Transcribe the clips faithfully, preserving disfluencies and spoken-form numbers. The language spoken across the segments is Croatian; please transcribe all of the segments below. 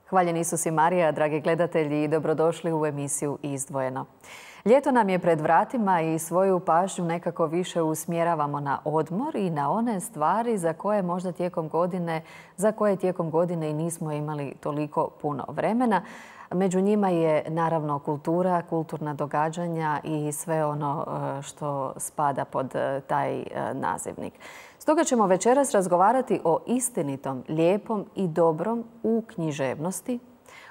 Hvaljen Isus i Marija, dragi gledatelji, i dobrodošli u emisiju Izdvojeno. Ljeto nam je pred vratima i svoju pažnju nekako više usmjeravamo na odmor i na one stvari za koje možda tijekom godine, za koje tijekom godine i nismo imali toliko puno vremena. Među njima je naravno kultura, kulturna događanja i sve ono što spada pod taj nazivnik. Stoga ćemo večeras razgovarati o istinitom, lijepom i dobrom u književnosti,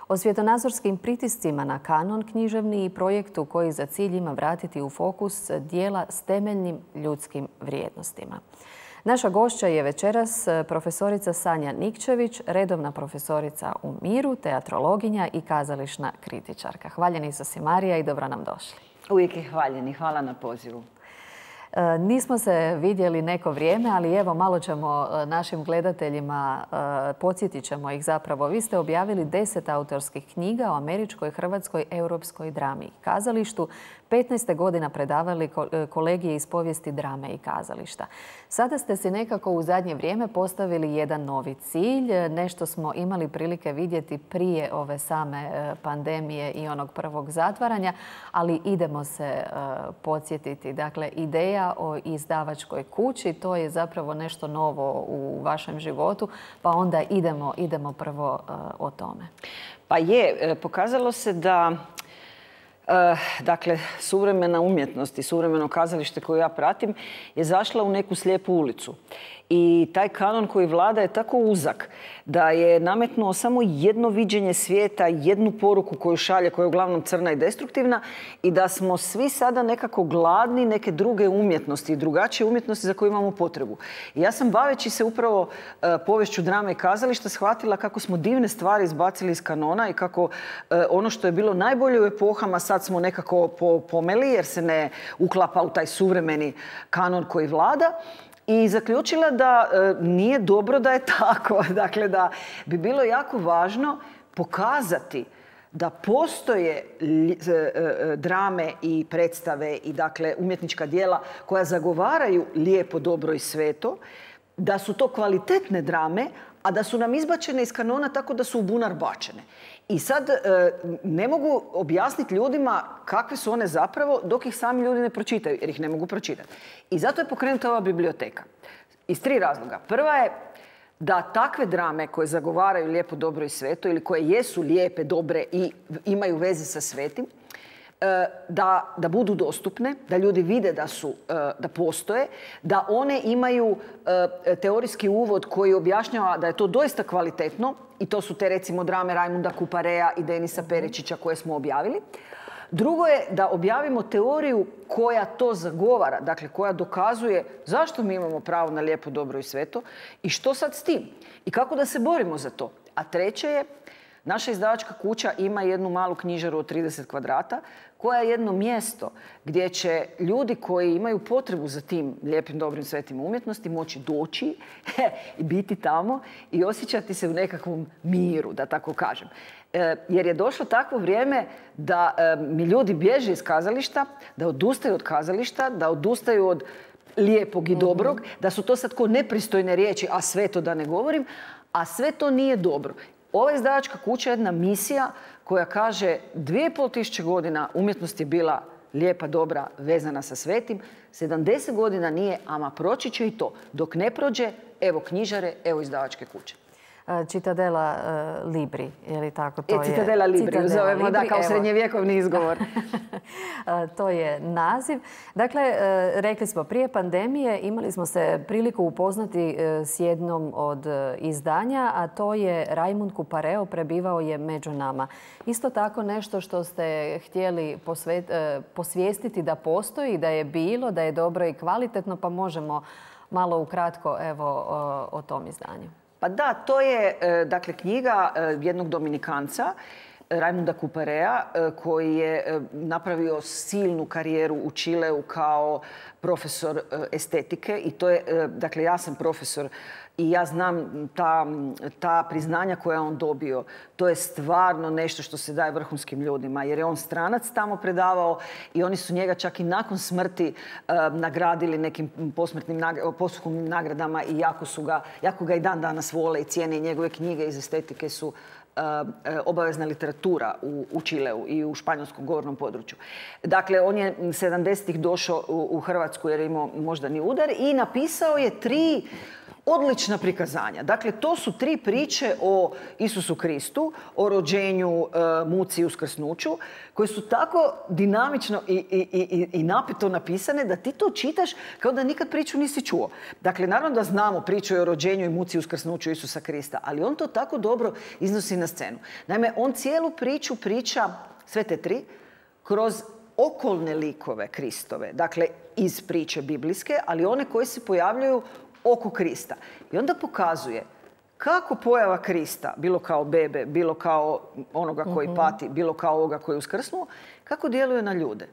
o svjetonazorskim pritiscima na kanon književni i projektu koji za cilj ima vratiti u fokus djela s temeljnim ljudskim vrijednostima. Naša gošća je večeras profesorica Sanja Nikčević, redovna profesorica u Miru, teatrologinja i kazališna kritičarka. Hvaljen Isus i Marija i dobro nam došli. Uvijek je hvaljeni. Hvala na pozivu. Nismo se vidjeli neko vrijeme, ali evo malo ćemo našim gledateljima, podsjetit ćemo ih zapravo. Vi ste objavili deset autorskih knjiga o američkoj, hrvatskoj, europskoj drami i kazalištu. petnaest godina predavali kolegije iz povijesti drame i kazališta. Sada ste si nekako u zadnje vrijeme postavili jedan novi cilj. Nešto smo imali prilike vidjeti prije ove same pandemije i onog prvog zatvaranja, ali idemo se podsjetiti. Dakle, ideja o izdavačkoj kući, to je zapravo nešto novo u vašem životu, pa onda idemo, idemo prvo o tome. Pa je, pokazalo se da dakle, suvremena umjetnost i suvremeno kazalište koje ja pratim je zašla u neku slijepu ulicu. I taj kanon koji vlada je tako uzak da je nametnuo samo jedno viđenje svijeta, jednu poruku koju šalje, koja je uglavnom crna i destruktivna, i da smo svi sada nekako gladni neke druge umjetnosti i drugačije umjetnosti za koje imamo potrebu. I ja sam, baveći se upravo uh, poviješću drame i kazališta, shvatila kako smo divne stvari izbacili iz kanona i kako uh, ono što je bilo najbolje u epohama sad smo nekako po, pomeli jer se ne uklapa u taj suvremeni kanon koji vlada. I zaključila da e, nije dobro da je tako. Dakle, da bi bilo jako važno pokazati da postoje drame i predstave i dakle umjetnička djela koja zagovaraju lijepo, dobro i sveto, da su to kvalitetne drame, a da su nam izbačene iz kanona tako da su u bunar bačene. I sad ne mogu objasniti ljudima kakve su one zapravo dok ih sami ljudi ne pročitaju, jer ih ne mogu pročitati. I zato je pokrenuta ova biblioteka. Iz tri razloga. Prva je da takve drame koje zagovaraju lijepo, dobro i sveto ili koje jesu lijepe, dobre i imaju veze sa svetim, Da, da budu dostupne, da ljudi vide da, su, da postoje, da one imaju teorijski uvod koji objašnjava da je to doista kvalitetno i to su te recimo drame Rajmunda Kuparea i Denisa Perečića koje smo objavili. Drugo je da objavimo teoriju koja to zagovara, dakle koja dokazuje zašto mi imamo pravo na lijepo, dobro i sveto i što sad s tim i kako da se borimo za to. A treće je, naša izdavačka kuća ima jednu malu knjižaru od trideset kvadrata koja je jedno mjesto gdje će ljudi koji imaju potrebu za tim lijepim, dobrim, svetim umjetnosti moći doći i biti tamo i osjećati se u nekakvom miru, da tako kažem. E, jer je došlo takvo vrijeme da e, mi ljudi bježe iz kazališta, da odustaju od kazališta, da odustaju od lijepog i dobrog, mm-hmm. da su to sad ko nepristojne riječi, a sve to da ne govorim, a sve to nije dobro. Ova izdavačka kuća je jedna misija koja kaže dvije i pol tisuće godina umjetnost je bila lijepa, dobra, vezana sa svetim. sedamdeset godina nije, ama proći će i to. Dok ne prođe, evo knjižare, evo izdavačke kuće. Citadela uh, Libri, je li tako? To e, Citadela je... Libri, Citadela zovemo, Libri, da, kao evo. srednjevjekovni izgovor. To je naziv. Dakle, uh, rekli smo, prije pandemije imali smo se priliku upoznati uh, s jednom od uh, izdanja, a to je Rajmund Kupareo, prebivao je među nama. Isto tako nešto što ste htjeli posvet, uh, posvijestiti da postoji, da je bilo, da je dobro i kvalitetno, pa možemo malo ukratko evo, o, o tom izdanju. Pa da, to je dakle knjiga jednog Dominikanca, Rajmunda Kuparea, koji je napravio silnu karijeru u Čileu kao profesor estetike i to je, dakle ja sam profesor i ja znam ta, ta priznanja koja je on dobio. To je stvarno nešto što se daje vrhunskim ljudima, jer je on stranac tamo predavao i oni su njega čak i nakon smrti uh, nagradili nekim posmrtnim nagra- posthumnim nagradama i jako, su ga, jako ga i dan danas vole i cijene i njegove knjige iz estetike su obavezna literatura u, u Čileu i u španjolskom govornom području. Dakle, on je sedamdesetih došao u, u Hrvatsku jer je imao moždani udar i napisao je tri odlična prikazanja. Dakle, to su tri priče o Isusu Kristu, o rođenju, muci i uskrsnuću, koje su tako dinamično i, i, i, i napito napisane da ti to čitaš kao da nikad priču nisi čuo. Dakle, naravno da znamo priču o rođenju i muci i uskrsnuću Isusa Krista, ali on to tako dobro iznosi na scenu. Naime, on cijelu priču priča, sve te tri, kroz okolne likove Kristove. Dakle, iz priče biblijske, ali one koje se pojavljaju oko Krista. I onda pokazuje kako pojava Krista, bilo kao bebe, bilo kao onoga koji pati, bilo kao ovoga koji je uskrsnuo, kako djeluje na ljude.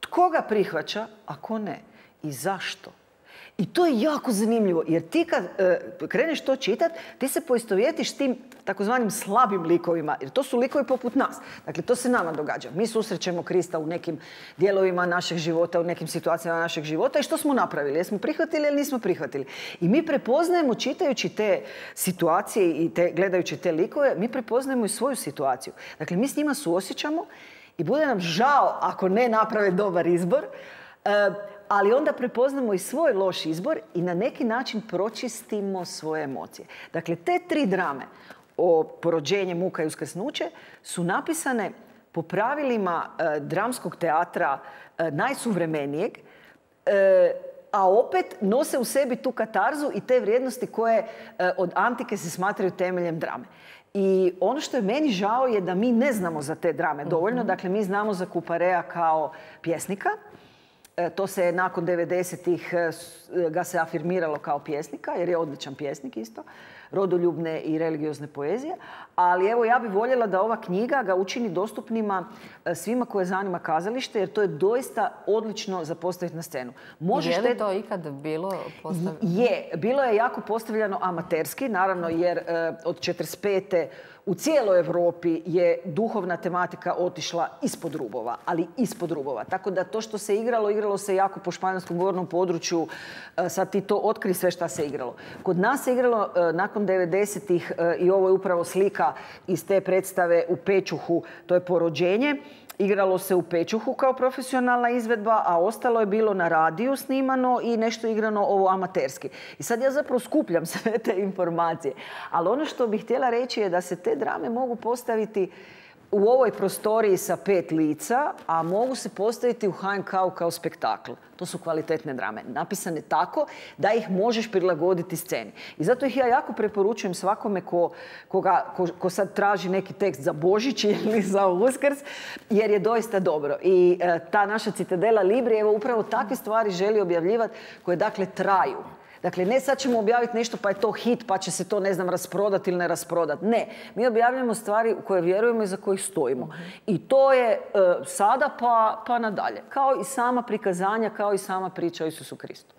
Tko ga prihvaća, a ko ne? I zašto? I to je jako zanimljivo, jer ti kad e, kreneš to čitat, ti se poistovjetiš s tim takozvanim slabim likovima, jer to su likovi poput nas. Dakle, to se nama događa. Mi susrećemo Krista u nekim dijelovima našeg života, u nekim situacijama našeg života i što smo napravili? Jesmo prihvatili ili nismo prihvatili? I mi prepoznajemo, čitajući te situacije i te, gledajući te likove, mi prepoznajemo i svoju situaciju. Dakle, mi s njima suosjećamo i bude nam žao ako ne naprave dobar izbor, e, ali onda prepoznamo i svoj loš izbor i na neki način pročistimo svoje emocije. Dakle, te tri drame o porođenje, muka i uskrsnuće su napisane po pravilima e, dramskog teatra e, najsuvremenijeg, e, a opet nose u sebi tu katarzu i te vrijednosti koje e, od antike se smatraju temeljem drame. I ono što je meni žao je da mi ne znamo za te drame dovoljno. Dakle, mi znamo za Couperea kao pjesnika. To se nakon devedesetih ga se afirmiralo kao pjesnika, jer je odličan pjesnik isto, rodoljubne i religiozne poezije. Ali evo, ja bih voljela da ova knjiga ga učini dostupnima svima koje zanima kazalište, jer to je doista odlično za postaviti na scenu. Možeš je li to ikad bilo postavljeno? Je, bilo je jako postavljeno amaterski, naravno, jer od četrdeset pete u cijeloj Europi je duhovna tematika otišla ispod rubova, ali ispod rubova. Tako da to što se igralo, igralo se jako po španjolskom govornom području. Sad ti to otkri sve šta se igralo. Kod nas se igralo nakon devedesetih i ovo je upravo slika iz te predstave u Pečuhu, to je Porođenje. Igralo se u Pečuhu kao profesionalna izvedba, a ostalo je bilo na radiju snimano i nešto igrano ovo amaterski. I sad ja zapravo skupljam sve te informacije. Ali ono što bih htjela reći je da se te drame mogu postaviti u ovoj prostoriji sa pet lica, a mogu se postaviti u ha en ka-u kao spektakl. To su kvalitetne drame, napisane tako da ih možeš prilagoditi sceni. I zato ih ja jako preporučujem svakome ko, koga, ko, ko sad traži neki tekst za Božić ili za Uskrs, jer je doista dobro. I e, ta naša Citadela Libri, evo upravo takve stvari želi objavljivati koje dakle traju. Dakle, ne sad ćemo objaviti nešto pa je to hit pa će se to, ne znam, rasprodati ili ne rasprodati. Ne, mi objavljamo stvari u koje vjerujemo i za kojih stojimo. I to je e, sada pa, pa nadalje. Kao i sama prikazanja, kao i sama priča o Isusu Kristu.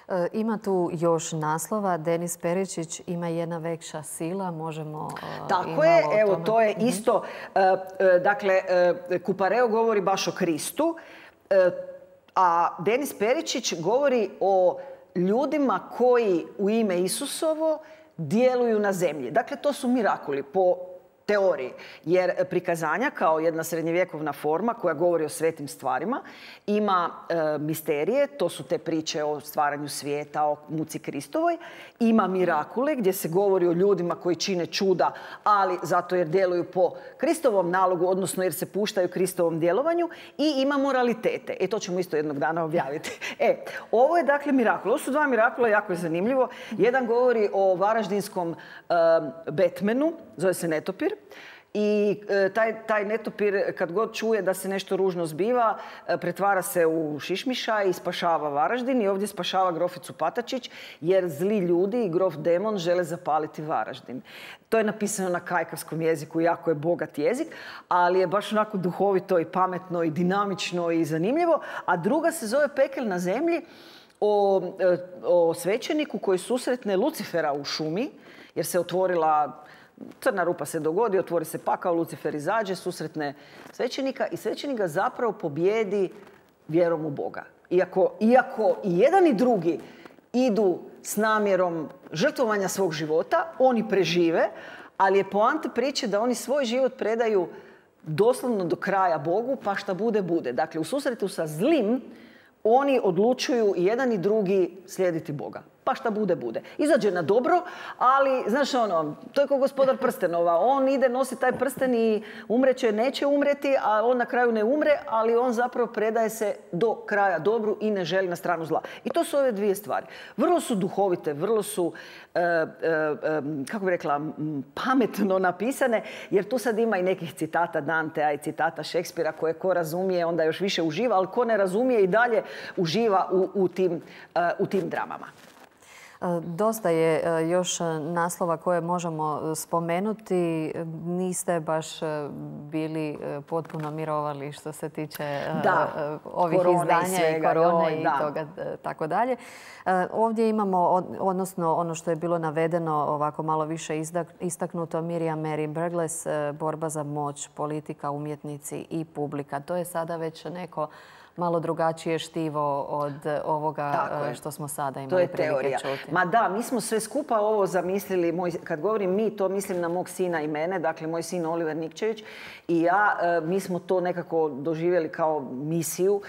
E, ima tu još naslova. Denis Peričić ima jedna vekša sila. Možemo e, Tako je, evo to je isto. E, e, dakle, e, Coupereu govori baš o Kristu, e, a Denis Peričić govori o ljudima koji u ime Isusovo djeluju na zemlji. Dakle, to su mirakuli po teoriji. Jer prikazanja kao jedna srednjevjekovna forma koja govori o svetim stvarima ima e, misterije, to su te priče o stvaranju svijeta, o muci Kristovoj. Ima mirakule gdje se govori o ljudima koji čine čuda, ali zato jer djeluju po Kristovom nalogu, odnosno jer se puštaju Kristovom djelovanju. I ima moralitete. E, to ćemo isto jednog dana objaviti. E, ovo je dakle mirakul. Ovo su dva mirakula, jako je zanimljivo. Jedan govori o varaždinskom e, Batmanu, zove se Netopir. I e, taj, taj netopir kad god čuje da se nešto ružno zbiva, e, pretvara se u šišmiša i spašava Varaždin. I ovdje spašava groficu Patačić jer zli ljudi i grof demon žele zapaliti Varaždin. To je napisano na kajkavskom jeziku, jako je bogat jezik, ali je baš onako duhovito i pametno i dinamično i zanimljivo. A druga se zove Pekel na zemlji. o, o svećeniku koji susretne Lucifera u šumi, jer se otvorila, crna rupa se dogodi, otvori se pakao, Lucifer izađe, susretne svećenika i svećenik ga zapravo pobjedi vjerom u Boga. Iako, iako i jedan i drugi idu s namjerom žrtvovanja svog života, oni prežive, ali je poanta priče da oni svoj život predaju doslovno do kraja Bogu, pa šta bude, bude. Dakle, u susretu sa zlim, oni odlučuju i jedan i drugi slijediti Boga. Pa šta bude, bude. Izađe na dobro, ali, znaš ono, to je kao gospodar prstenova. On ide, nosi taj prsten i umreće, neće umreti, a on na kraju ne umre, ali on zapravo predaje se do kraja dobru i ne želi na stranu zla. I to su ove dvije stvari. Vrlo su duhovite, vrlo su, e, e, kako bi rekla, pametno napisane, jer tu sad ima i nekih citata Dantea i citata Šekspira koje ko razumije, onda još više uživa, ali ko ne razumije i dalje uživa u, u, tim, u tim dramama. Dosta je još naslova koje možemo spomenuti. Niste baš bili potpuno mirovali što se tiče da, ovih izdanja i, i korone joj, i da. toga tako dalje. Ovdje imamo, odnosno ono što je bilo navedeno, ovako malo više istaknuto, Miriam Mary Burgess, borba za moć, politika, umjetnici i publika. To je sada već neko malo drugačije štivo od ovoga što smo sada imali to je prilike teorija. čuti. Ma da, mi smo sve skupa ovo zamislili. Moj, kad govorim mi, to mislim na mog sina i mene. Dakle, moj sin Oliver Nikčević i ja, mi smo to nekako doživjeli kao misiju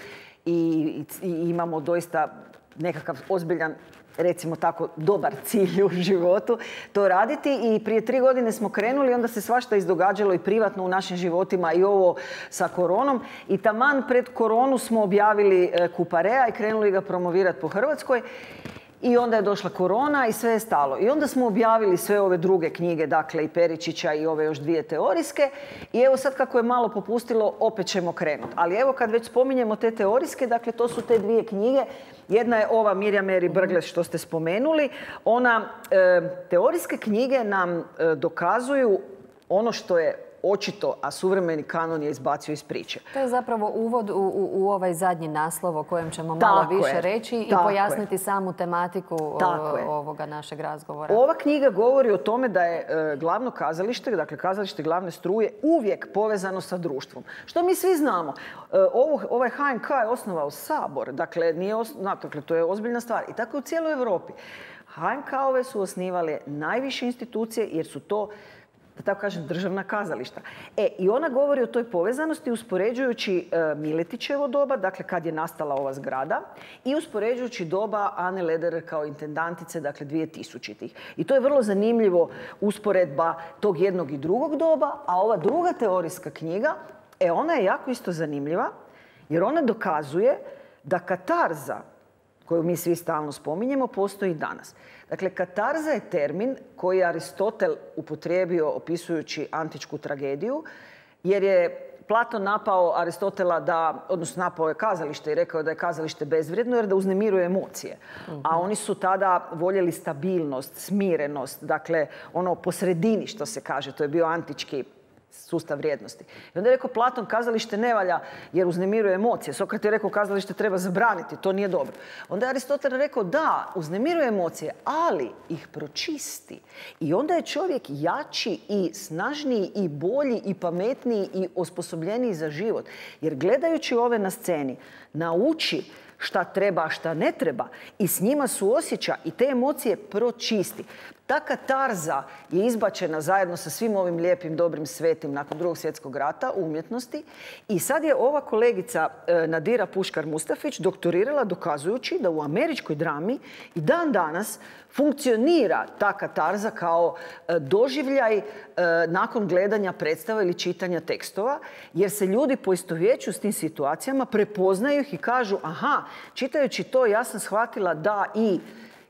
i, i, i imamo doista nekakav ozbiljan, recimo tako, dobar cilj u životu to raditi. I prije tri godine smo krenuli, onda se svašta izdogađalo i privatno u našim životima i ovo sa koronom. I taman pred koronu smo objavili Kuparea i krenuli ga promovirati po Hrvatskoj. I onda je došla korona i sve je stalo. I onda smo objavili sve ove druge knjige, dakle i Peričića i ove još dvije teorijske. I evo sad kako je malo popustilo, opet ćemo krenuti. Ali evo kad već spominjemo te teorijske, dakle to su te dvije knjige. Jedna je ova Miriam Mary Burgess što ste spomenuli. Ona, e, teorijske knjige nam e, dokazuju ono što je očito, a suvremeni kanon je izbacio iz priče. To je zapravo uvod u, u, u ovaj zadnji naslov o kojem ćemo malo tako više je. reći i tako pojasniti je. samu tematiku ovoga našeg razgovora. Ova knjiga govori o tome da je e, glavno kazalište, dakle kazalište glavne struje, uvijek povezano sa društvom. Što mi svi znamo. E, ovo, ovaj H N K je osnovao Sabor, dakle, nije os, dakle to je ozbiljna stvar. I tako je u cijeloj Europi. H N K-ove su osnivale najviše institucije jer su to, da tako kažem, državna kazališta. E, i ona govori o toj povezanosti uspoređujući e, Miletićevo doba, dakle kad je nastala ova zgrada, i uspoređujući doba Ane Lederer kao intendantice, dakle dvije tisućitih. I to je vrlo zanimljivo usporedba tog jednog i drugog doba, a ova druga teorijska knjiga, e, ona je jako isto zanimljiva, jer ona dokazuje da katarza, koju mi svi stalno spominjemo, postoji danas. Dakle, katarza je termin koji je Aristotel upotrijebio opisujući antičku tragediju, jer je Platon napao Aristotela da, odnosno napao je kazalište i rekao da je kazalište bezvrijedno jer da uznemiruje emocije. Mm-hmm. A oni su tada voljeli stabilnost, smirenost, dakle ono po sredini što se kaže, to je bio antički sustav vrijednosti. I onda je rekao Platon, kazalište ne valja jer uznemiruje emocije. Sokrat je rekao kazalište treba zabraniti, to nije dobro. Onda je Aristotel rekao da, uznemiruje emocije, ali ih pročisti. I onda je čovjek jači i snažniji i bolji i pametniji i osposobljeniji za život. Jer gledajući ove na sceni, nauči šta treba, a šta ne treba i s njima suosjeća i te emocije pročisti. Ta katarza je izbačena zajedno sa svim ovim lijepim, dobrim, svetim nakon drugog svjetskog rata u umjetnosti i sad je ova kolegica Nadira Puškar-Mustafić doktorirala dokazujući da u američkoj drami i dan danas funkcionira ta katarza kao doživljaj nakon gledanja predstava ili čitanja tekstova, jer se ljudi poistovjećuju s tim situacijama, prepoznaju ih i kažu aha, čitajući to ja sam shvatila da i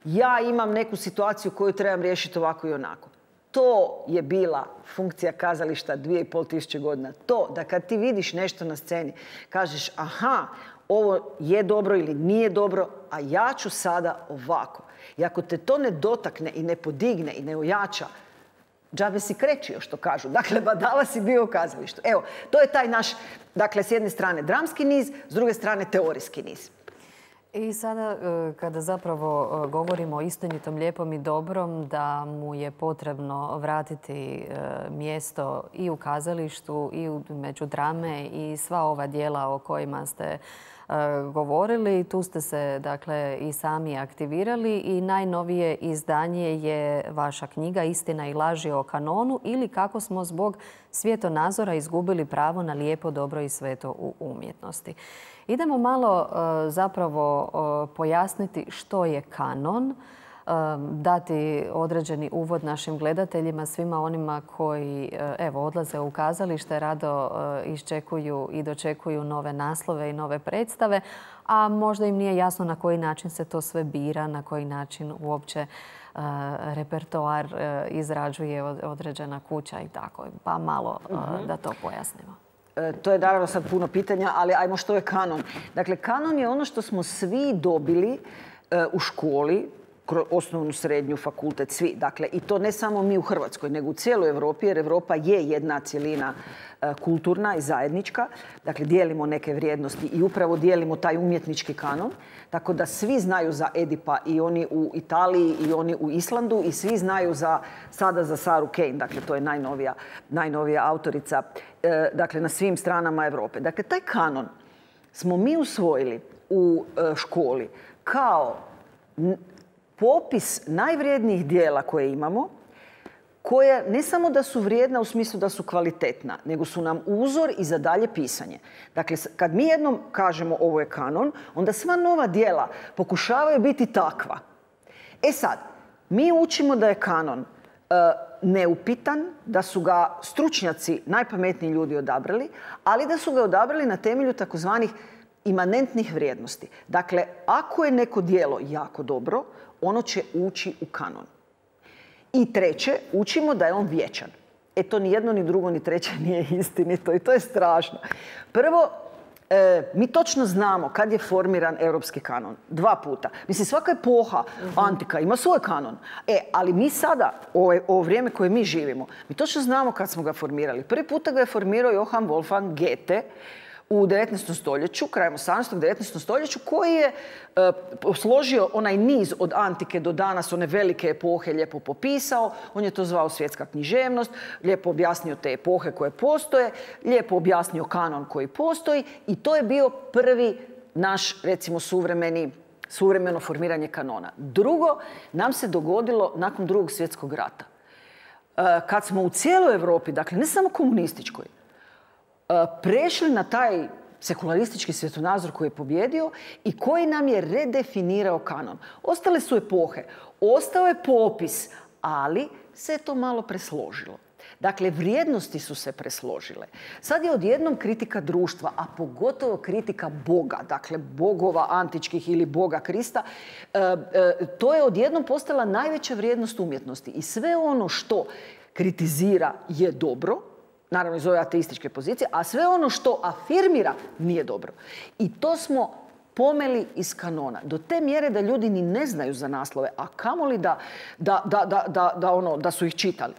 ja imam neku situaciju koju trebam riješiti ovako i onako. To je bila funkcija kazališta dvije i pol tisuće godina. To da kad ti vidiš nešto na sceni, kažeš aha, ovo je dobro ili nije dobro, a ja ću sada ovako. I ako te to ne dotakne i ne podigne i ne ojača, džabe si krečio, što kažu. Dakle, badava si bio u kazalištu. Evo, to je taj naš, dakle, s jedne strane dramski niz, s druge strane teorijski niz. I sada kada zapravo govorimo o istinitom, lijepom i dobrom, da mu je potrebno vratiti mjesto i u kazalištu i među drame i sva ova djela o kojima ste govorili. Tu ste se dakle i sami aktivirali i najnovije izdanje je vaša knjiga Istina i laži o kanonu ili kako smo zbog svjetonazora izgubili pravo na lijepo, dobro i sveto u umjetnosti. Idemo malo zapravo pojasniti što je kanon, dati određeni uvod našim gledateljima, svima onima koji evo, odlaze u kazalište, rado iščekuju i dočekuju nove naslove i nove predstave, a možda im nije jasno na koji način se to sve bira, na koji način uopće repertoar izrađuje određena kuća i tako. Pa malo da to pojasnimo. To je naravno sad puno pitanja, ali ajmo što je kanon. Dakle, kanon je ono što smo svi dobili u školi, osnovnu, srednju, fakultet, svi. Dakle, i to ne samo mi u Hrvatskoj, nego u cijeloj Europi, jer Europa je jedna cjelina kulturna i zajednička. Dakle, dijelimo neke vrijednosti i upravo dijelimo taj umjetnički kanon. Tako da svi znaju za Edipa, i oni u Italiji i oni u Islandu, i svi znaju za, sada za Saru Kane. Dakle, to je najnovija, najnovija autorica dakle, na svim stranama Europe. Dakle, taj kanon smo mi usvojili u školi kao popis najvrijednijih dijela koje imamo, koje ne samo da su vrijedna u smislu da su kvalitetna, nego su nam uzor i za dalje pisanje. Dakle, kad mi jednom kažemo ovo je kanon, onda sva nova dijela pokušavaju biti takva. E sad, mi učimo da je kanon e, neupitan, da su ga stručnjaci, najpametniji ljudi odabrali, ali da su ga odabrali na temelju takozvanih imanentnih vrijednosti. Dakle, ako je neko djelo jako dobro, ono će ući u kanon. I treće, učimo da je on vječan. E to ni jedno, ni drugo, ni treće nije istinito i to je strašno. Prvo, e, mi točno znamo kad je formiran europski kanon. Dva puta. Mislim, svaka epoha antika ima svoj kanon. E, ali mi sada, ovo, ovo vrijeme koje mi živimo, mi točno znamo kad smo ga formirali. Prvi puta ga je formirao Johann Wolfgang Goethe u devetnaestom stoljeću, krajem osamnaestog. devetnaestom stoljeću, koji je e, složio onaj niz od antike do danas, one velike epohe lijepo popisao. On je to zvao svjetska književnost, lijepo objasnio te epohe koje postoje, lijepo objasnio kanon koji postoji i to je bio prvi naš, recimo, suvremeni, suvremeno formiranje kanona. Drugo nam se dogodilo nakon Drugog svjetskog rata. E, kad smo u cijeloj Europi, dakle ne samo komunističkoj, prešli na taj sekularistički svjetonazor koji je pobjedio i koji nam je redefinirao kanon. Ostale su epohe, ostao je popis, ali se je to malo presložilo. Dakle, vrijednosti su se presložile. Sad je odjednom kritika društva, a pogotovo kritika Boga, dakle bogova antičkih ili Boga Krista, e, e, to je odjednom postala najveća vrijednost umjetnosti. I sve ono što kritizira je dobro, naravno iz ove ateističke pozicije, a sve ono što afirmira nije dobro. I to smo pomeli iz kanona. Do te mjere da ljudi ni ne znaju za naslove, a kamoli da, da, da, da, da, da, ono, da su ih čitali.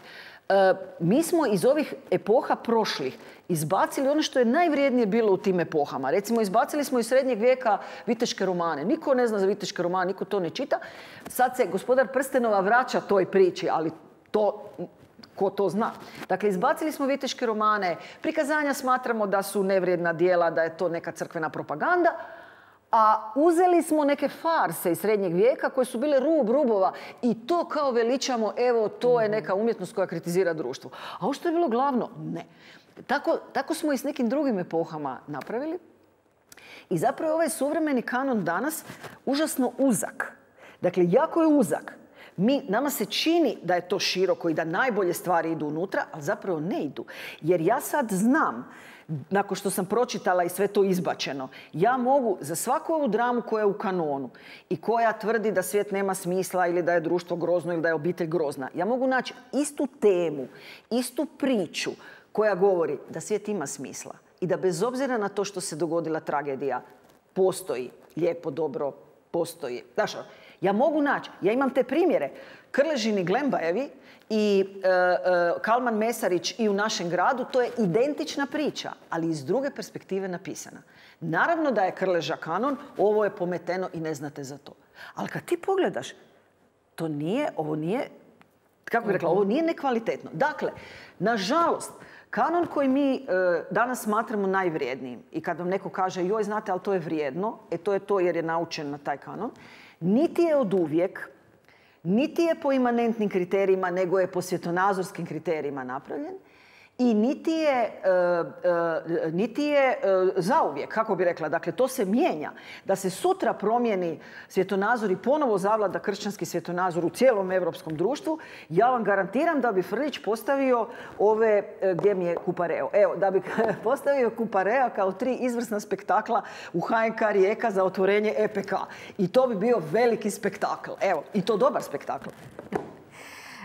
E, mi smo iz ovih epoha prošlih izbacili ono što je najvrijednije bilo u tim epohama. Recimo, izbacili smo iz srednjeg vijeka viteške romane. Niko ne zna za viteške romane, niko to ne čita. Sad se Gospodar prstenova vraća toj priči, ali to... Ko to zna? Dakle, izbacili smo viteške romane, prikazanja smatramo da su nevrijedna djela, da je to neka crkvena propaganda, a uzeli smo neke farse iz srednjeg vijeka koje su bile rub rubova i to kao veličamo, evo, to je neka umjetnost koja kritizira društvo. A ovo što je bilo glavno? Ne. Tako, tako smo i s nekim drugim epohama napravili. I zapravo ovaj suvremeni kanon danas užasno uzak. Dakle, jako je uzak. Mi, nama se čini da je to široko i da najbolje stvari idu unutra, ali zapravo ne idu. Jer ja sad znam, nakon što sam pročitala i sve to izbačeno, ja mogu za svaku ovu dramu koja je u kanonu i koja tvrdi da svijet nema smisla ili da je društvo grozno ili da je obitelj grozna, ja mogu naći istu temu, istu priču koja govori da svijet ima smisla i da bez obzira na to što se dogodila tragedija, postoji lijepo, dobro, postoji. Znaš, ja mogu naći, ja imam te primjere. Krležini Glembajevi i e, e, Kalman Mesarić i u našem gradu, to je identična priča, ali iz druge perspektive napisana. Naravno da je Krleža kanon, ovo je pometeno i ne znate za to. Ali kad ti pogledaš, to nije, ovo nije, kako bih rekla, ovo nije nekvalitetno. Dakle, nažalost, kanon koji mi e, danas smatramo najvrijednijim i kad vam neko kaže joj, znate, ali to je vrijedno, e to je to jer je naučen na taj kanon, niti je od uvijek, niti je po imanentnim kriterijima, nego je po svjetonazorskim kriterijima napravljen i niti je, e, e, niti je e, zauvijek, kako bi rekla. Dakle, to se mijenja. Da se sutra promijeni svjetonazor i ponovo zavlada kršćanski svjetonazor u cijelom europskom društvu, ja vam garantiram da bi Frljić postavio ove, e, gdje mi je Kupareo? Evo, da bi postavio Kupareja kao tri izvrsna spektakla u H N K Rijeka za otvorenje E P K. I to bi bio veliki spektakl. Evo, i to dobar spektakl.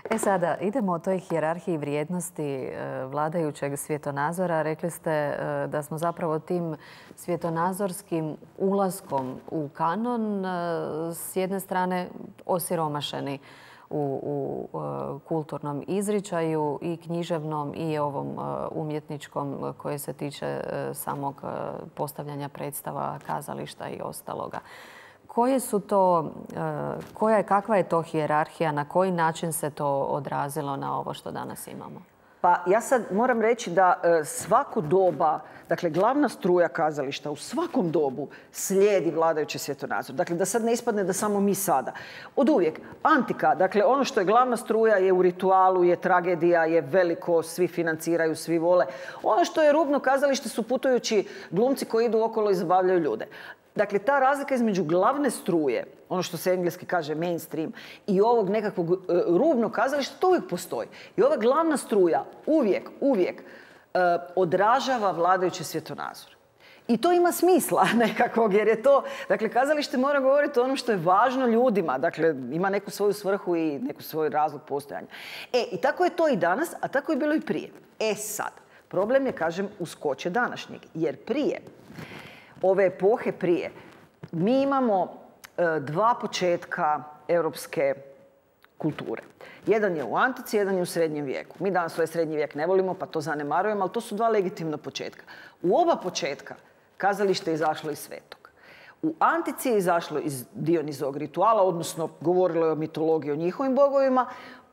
E sada, idemo o toj hijerarhiji vrijednosti vladajućeg svjetonazora. Rekli ste da smo zapravo tim svjetonazorskim ulaskom u kanon s jedne strane osiromašeni u, u kulturnom izričaju i književnom i ovom umjetničkom koje se tiče samog postavljanja predstava, kazališta i ostaloga. Koje su to, koja je, kakva je to hijerarhija, na koji način se to odrazilo na ovo što danas imamo? Pa ja sad moram reći da svako doba, dakle glavna struja kazališta u svakom dobu slijedi vladajući svjetonazor. Dakle, da sad ne ispadne da samo mi sada. Od uvijek. Antika, dakle ono što je glavna struja je u ritualu, je tragedija, je veliko, svi financiraju, svi vole. Ono što je rubno kazalište su putujući glumci koji idu okolo i zabavljaju ljude. Dakle, ta razlika između glavne struje, ono što se engleski kaže mainstream, i ovog nekakvog uh, rubnog kazališta, to uvijek postoji. I ova glavna struja uvijek, uvijek uh, odražava vladajući svjetonazor. I to ima smisla nekakvog, jer je to, dakle, kazalište mora govoriti o onom što je važno ljudima. Dakle, ima neku svoju svrhu i neku svoj razlog postojanja. E, i tako je to i danas, a tako je bilo i prije. E sad, problem je, kažem, uskoče današnjeg, jer prije, ove epohe prije, mi imamo e, dva početka europske kulture. Jedan je u antici, jedan je u srednjem vijeku. Mi danas ovaj srednji vijek ne volimo, pa to zanemarujemo, ali to su dva legitimna početka. U oba početka kazalište je izašlo iz svetog. U antici je izašlo iz Dionizovog rituala, odnosno govorilo je o mitologiji, o njihovim bogovima.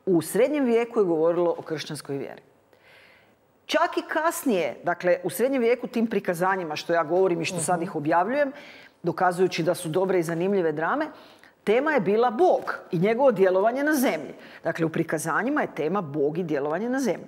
U srednjem vijeku je govorilo o kršćanskoj vjeri. Čak i kasnije, dakle, u srednjem vijeku tim prikazanjima što ja govorim i što sad ih objavljujem, dokazujući da su dobre i zanimljive drame, tema je bila Bog i njegovo djelovanje na zemlji. Dakle, u prikazanjima je tema Bog i djelovanje na zemlji.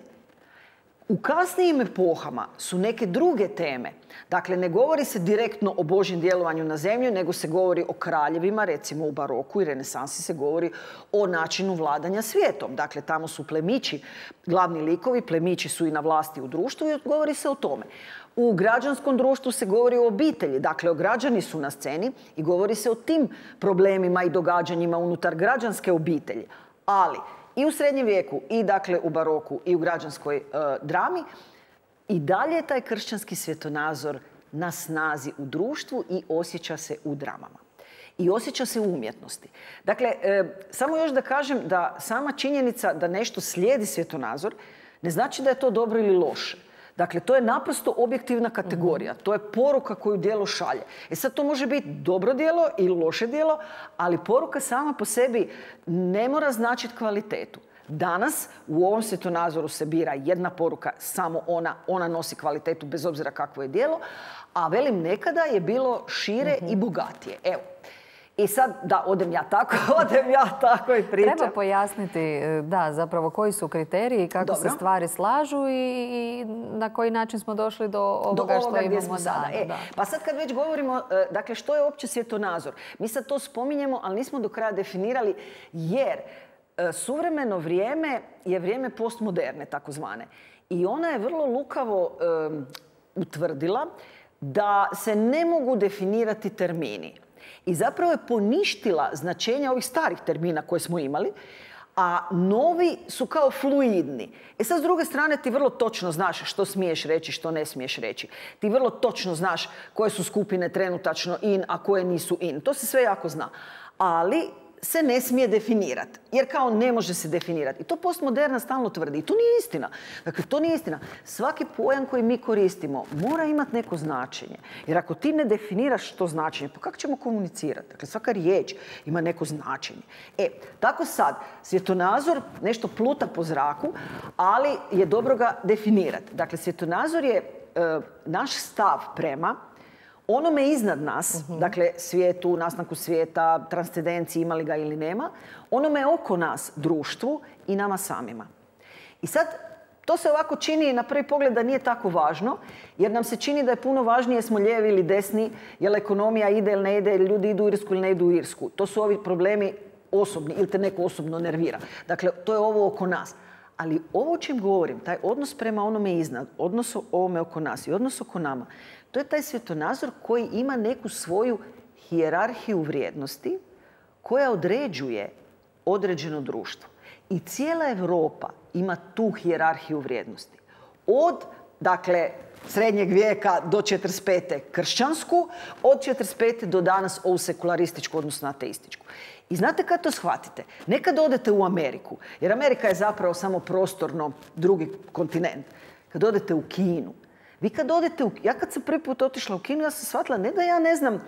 U kasnijim epohama su neke druge teme. Dakle, ne govori se direktno o Božjem djelovanju na zemlju, nego se govori o kraljevima, recimo u baroku i renesansi se govori o načinu vladanja svijetom. Dakle, tamo su plemići, glavni likovi, plemići su i na vlasti u društvu i govori se o tome. U građanskom društvu se govori o obitelji, dakle, građani su na sceni i govori se o tim problemima i događanjima unutar građanske obitelji. Ali i u srednjem vijeku, i dakle u baroku, i u građanskoj e, drami, i dalje je taj kršćanski svjetonazor na snazi u društvu i osjeća se u dramama. I osjeća se u umjetnosti. Dakle, e, samo još da kažem da sama činjenica da nešto slijedi svjetonazor ne znači da je to dobro ili loše. Dakle, to je naprosto objektivna kategorija. To je poruka koju djelo šalje. E sad, to može biti dobro djelo ili loše djelo, ali poruka sama po sebi ne mora značiti kvalitetu. Danas u ovom svjetonazoru se bira jedna poruka, samo ona, ona nosi kvalitetu bez obzira kakvo je djelo, a velim, nekada je bilo šire mm-hmm. i bogatije. Evo. I sad, da, odem ja tako, odem ja tako i pričam. Treba pojasniti, da, zapravo koji su kriteriji, kako Dobro. se stvari slažu i na koji način smo došli do ovoga, do ovoga što imamo smo sada. E, da. Pa sad kad već govorimo, dakle, što je uopće svjetonazor? Mi sad to spominjemo, ali nismo do kraja definirali, jer suvremeno vrijeme je vrijeme postmoderne, takozvane. I ona je vrlo lukavo um, utvrdila da se ne mogu definirati termini. I zapravo je poništila značenja ovih starih termina koje smo imali, a novi su kao fluidni. E sad, s druge strane, ti vrlo točno znaš što smiješ reći, što ne smiješ reći. Ti vrlo točno znaš koje su skupine trenutačno in, a koje nisu in. To se sve jako zna. Ali se ne smije definirati. Jer kao ne može se definirati. I to postmoderna stalno tvrdi. I to nije istina. Dakle, to nije istina. Svaki pojam koji mi koristimo mora imati neko značenje. Jer ako ti ne definiraš to značenje, pa kako ćemo komunicirati? Dakle, svaka riječ ima neko značenje. E, tako sad, svjetonazor nešto pluta po zraku, ali je dobro ga definirati. Dakle, svjetonazor je e, naš stav prema onome iznad nas, uh-huh. dakle svijetu, nastanku svijeta, transcendenciji, ima li ga ili nema, onome oko nas, društvu i nama samima. I sad, to se ovako čini na prvi pogled da nije tako važno, jer nam se čini da je puno važnije smo lijevi ili desni, jel ekonomija ide ili ne ide, ili ljudi idu u Irsku ili ne idu u Irsku. To su ovi problemi osobni ili te neko osobno nervira. Dakle, to je ovo oko nas. Ali ovo o čem govorim, taj odnos prema onome iznad, odnos ovome oko nas i odnos oko nama, to je taj svjetonazor koji ima neku svoju hijerarhiju vrijednosti koja određuje određeno društvo. I cijela Europa ima tu hijerarhiju vrijednosti. Od, dakle, srednjeg vijeka do četrdeset pete kršćansku, od četrdeset pete do danas ovu sekularističku, odnosno ateističku. I znate kad to shvatite? Nekad odete u Ameriku, jer Amerika je zapravo samo prostorno drugi kontinent. Kad odete u Kinu, vi kad odete u... Ja kad sam prvi put otišla u Kinu, ja sam shvatila ne da ja ne znam,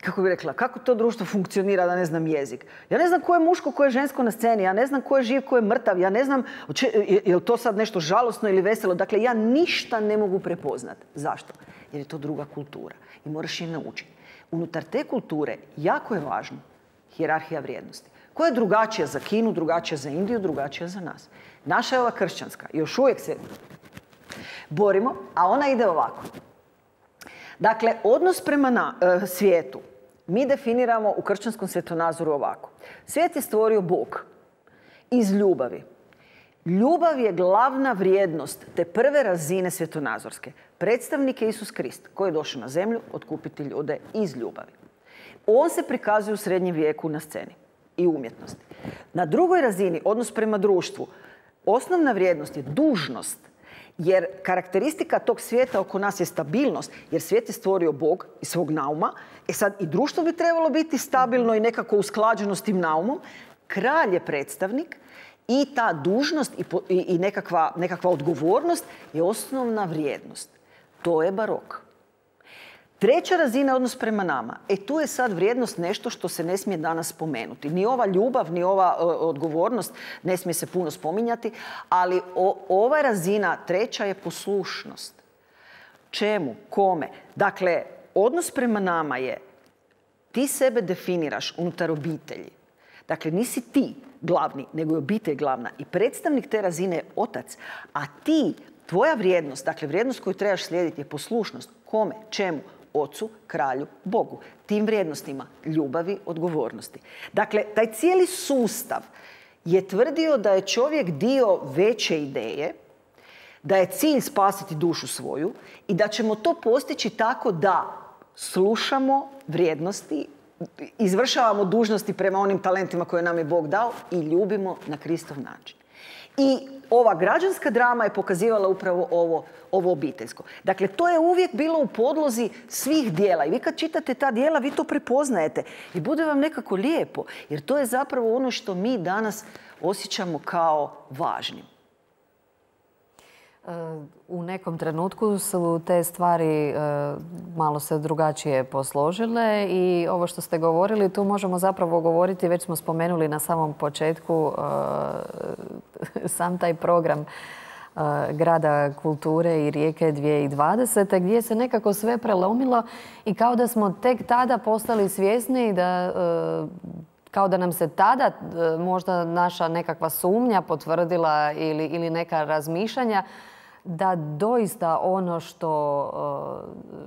kako bih rekla, kako to društvo funkcionira, da ne znam jezik. Ja ne znam ko je muško, ko je žensko na sceni, ja ne znam ko je živ, ko je mrtav, ja ne znam je li to sad nešto žalosno ili veselo. Dakle, ja ništa ne mogu prepoznat. Zašto? Jer je to druga kultura i moraš je naučiti. Unutar te kulture jako je važno hijerarhija vrijednosti. Koja je drugačija za Kinu, drugačija za Indiju, drugačija za nas. Naša je ova kršćanska. Još uvijek se borimo, a ona ide ovako. Dakle, odnos prema na, e, svijetu mi definiramo u kršćanskom svjetonazoru ovako. Svijet je stvorio Bog iz ljubavi. Ljubav je glavna vrijednost te prve razine svjetonazorske. Predstavnik je Isus Krist koji je došao na zemlju otkupiti ljude iz ljubavi. On se prikazuje u srednjem vijeku na sceni i umjetnosti. Na drugoj razini, odnos prema društvu, osnovna vrijednost je dužnost. Jer karakteristika tog svijeta oko nas je stabilnost, jer svijet je stvorio Bog iz svog nauma. E sad i društvo bi trebalo biti stabilno i nekako usklađeno s tim naumom. Kralj je predstavnik i ta dužnost i, i, i nekakva, nekakva odgovornost je osnovna vrijednost. To je barok. Treća razina je odnos prema nama. E tu je sad vrijednost nešto što se ne smije danas spomenuti. Ni ova ljubav, ni ova o, odgovornost ne smije se puno spominjati, ali o, ova razina treća je poslušnost. Čemu? Kome? Dakle, odnos prema nama je ti sebe definiraš unutar obitelji. Dakle, nisi ti glavni, nego je obitelj glavna. I predstavnik te razine je otac, a ti, tvoja vrijednost, dakle vrijednost koju trebaš slijediti je poslušnost. Kome? Čemu? Ocu, kralju, Bogu. Tim vrijednostima ljubavi, odgovornosti. Dakle, taj cijeli sustav je tvrdio da je čovjek dio veće ideje, da je cilj spasiti dušu svoju i da ćemo to postići tako da slušamo vrijednosti, izvršavamo dužnosti prema onim talentima koje nam je Bog dao i ljubimo na Kristov način. I ova građanska drama je pokazivala upravo ovo, ovo obiteljsko. Dakle, to je uvijek bilo u podlozi svih dijela. I vi kad čitate ta dijela, vi to prepoznajete. I bude vam nekako lijepo. Jer to je zapravo ono što mi danas osjećamo kao važnim. U nekom trenutku su te stvari malo se drugačije posložile i ovo što ste govorili, tu možemo zapravo govoriti, već smo spomenuli na samom početku sam taj program Grada kulture i Rijeke dvije tisuće dvadesete. gdje se nekako sve prelomilo i kao da smo tek tada postali svjesni da kao da nam se tada možda naša nekakva sumnja potvrdila ili, ili neka razmišljanja da doista ono što,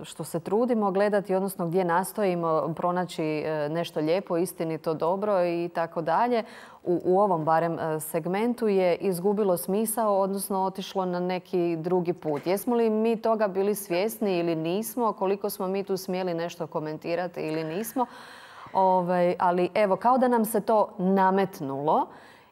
što se trudimo gledati, odnosno gdje nastojimo pronaći nešto lijepo, istinito, dobro i tako dalje, u, u ovom barem segmentu je izgubilo smisao, odnosno otišlo na neki drugi put. Jesmo li mi toga bili svjesni ili nismo? Koliko smo mi tu smjeli nešto komentirati ili nismo? Ove, ali evo, kao da nam se to nametnulo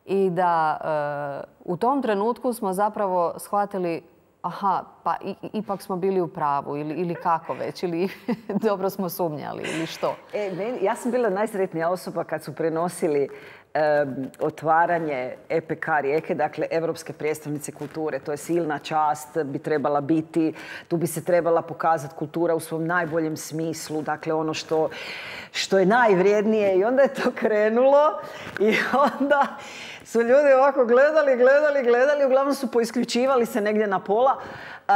i da e, u tom trenutku smo zapravo shvatili aha, pa i, ipak smo bili u pravu ili, ili kako već, ili dobro smo sumnjali ili što? E, meni, ja sam bila najsretnija osoba kad su prenosili um, otvaranje E P K Rijeke, dakle Europske prijestolnice kulture. To je silna čast, bi trebala biti, tu bi se trebala pokazati kultura u svom najboljem smislu, dakle ono što, što je najvrijednije. I onda je to krenulo i onda su ljudi ovako gledali, gledali, gledali, uglavnom su poisključivali se negdje na pola. Uh,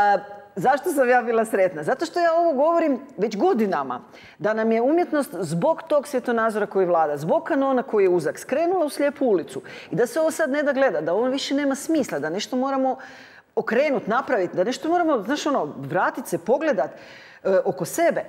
Zašto sam ja bila sretna? Zato što ja ovo govorim već godinama. Da nam je umjetnost zbog tog svjetonazora koji vlada, zbog kanona koji je uzak, skrenula u slijepu ulicu. I da se ovo sad ne da gleda, da ovo više nema smisla, da nešto moramo okrenuti, napraviti, da nešto moramo, znaš ono, vratiti se, pogledati e, oko sebe.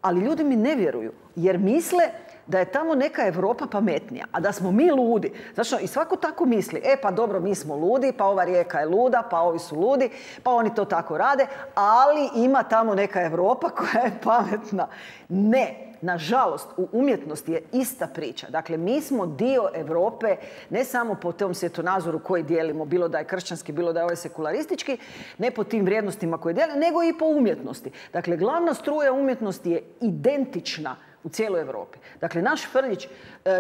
Ali ljudi mi ne vjeruju, jer misle da je tamo neka Europa pametnija, a da smo mi ludi. Znači, i svako tako misli, e pa dobro, mi smo ludi, pa ova Rijeka je luda, pa ovi su ludi, pa oni to tako rade, ali ima tamo neka Europa koja je pametna. Ne, nažalost, u umjetnosti je ista priča. Dakle, mi smo dio Europe, ne samo po tom svjetonazoru koji dijelimo, bilo da je kršćanski, bilo da je ovaj sekularistički, ne po tim vrijednostima koje dijelimo, nego i po umjetnosti. Dakle, glavna struja umjetnosti je identična u cijeloj Europi. Dakle, naš Frljić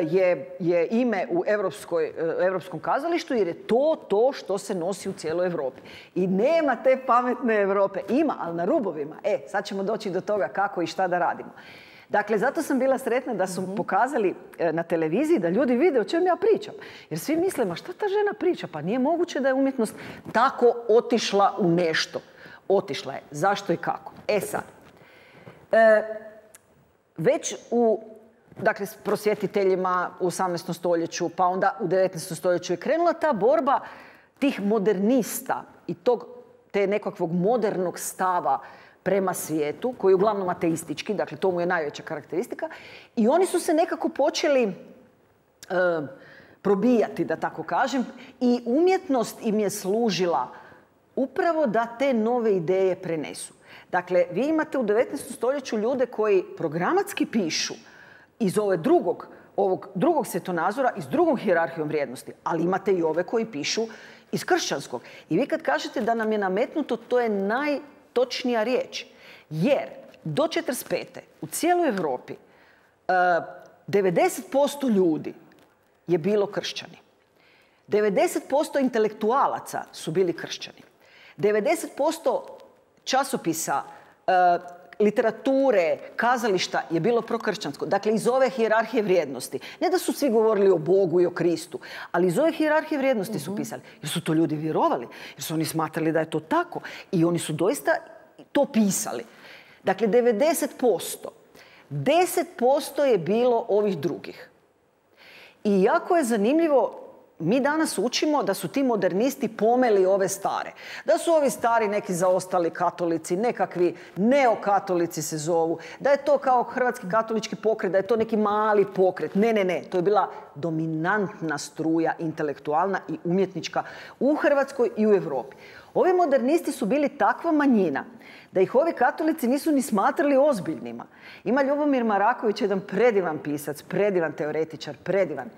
je, je ime u Europskoj, Europskom kazalištu jer je to to što se nosi u cijeloj Europi. I nema te pametne Europe. Ima, ali na rubovima. E, sad ćemo doći do toga kako i šta da radimo. Dakle, zato sam bila sretna da su mm-hmm. pokazali na televiziji da ljudi vide o čem ja pričam. Jer svi misle, ma šta ta žena priča? Pa nije moguće da je umjetnost tako otišla u nešto. Otišla je. Zašto i kako? E sad. E, Već u, dakle, s prosvjetiteljima u osamnaestom stoljeću, pa onda u devetnaestom stoljeću je krenula ta borba tih modernista i tog, te nekakvog modernog stava prema svijetu, koji je uglavnom ateistički, dakle to mu je najveća karakteristika, i oni su se nekako počeli e, probijati, da tako kažem, i umjetnost im je služila upravo da te nove ideje prenesu. Dakle, vi imate u devetnaestom stoljeću ljude koji programatski pišu iz ove drugog, ovog drugog svjetonazora, iz drugog hijerarhijom vrijednosti, ali imate i ove koji pišu iz kršćanskog. I vi kad kažete da nam je nametnuto, to je najtočnija riječ. Jer do četrdeset pete u cijeloj Europi devedeset posto ljudi je bilo kršćani. devedeset posto intelektualaca su bili kršćani. devedeset posto časopisa, e, literature, kazališta je bilo prokršćansko. Dakle, iz ove hijerarhije vrijednosti. Ne da su svi govorili o Bogu i o Kristu, ali iz ove hijerarhije vrijednosti su pisali. Jer su to ljudi vjerovali, jer su oni smatrali da je to tako. I oni su doista to pisali. Dakle, devedeset posto. deset posto je bilo ovih drugih. I jako je zanimljivo, mi danas učimo da su ti modernisti pomeli ove stare. Da su ovi stari neki zaostali katolici, nekakvi neokatolici se zovu. Da je to kao hrvatski katolički pokret, da je to neki mali pokret. Ne, ne, ne. To je bila dominantna struja intelektualna i umjetnička u Hrvatskoj i u Europi. Ovi modernisti su bili takva manjina da ih ovi katolici nisu ni smatrali ozbiljnima. Ima Ljubomir Maraković, jedan predivan pisac, predivan teoretičar, predivan,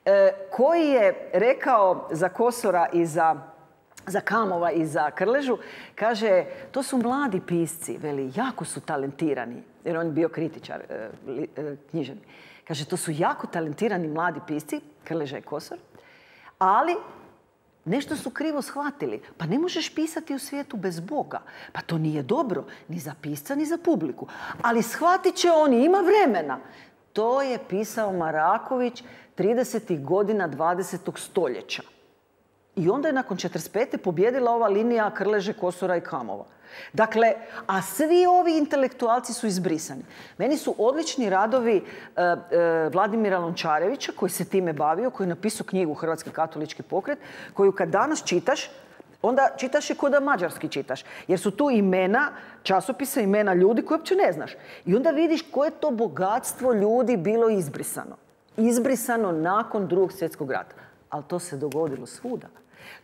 E, koji je rekao za Kosora i za, za Kamova i za Krležu, kaže, to su mladi pisci, veli, jako su talentirani, jer on je bio kritičar e, e, književni. Kaže, to su jako talentirani mladi pisci, Krleža i Kosor, ali nešto su krivo shvatili. Pa ne možeš pisati u svijetu bez Boga. Pa to nije dobro, ni za pisca, ni za publiku. Ali shvatit će oni, ima vremena. To je pisao Maraković tridesetih godina dvadesetog stoljeća. I onda je nakon četrdeset pete pobjedila ova linija Krleže, Kosora i Kamova. Dakle, a svi ovi intelektualci su izbrisani. Meni su odlični radovi e, e, Vladimira Lončarevića, koji se time bavio, koji je napisao knjigu Hrvatski katolički pokret, koju kad danas čitaš, onda čitaš je kao da mađarski čitaš. Jer su tu imena časopisa, imena ljudi koje uopće ne znaš. I onda vidiš koje to bogatstvo ljudi bilo izbrisano. Izbrisano nakon drugog svjetskog rata. Ali to se dogodilo svuda.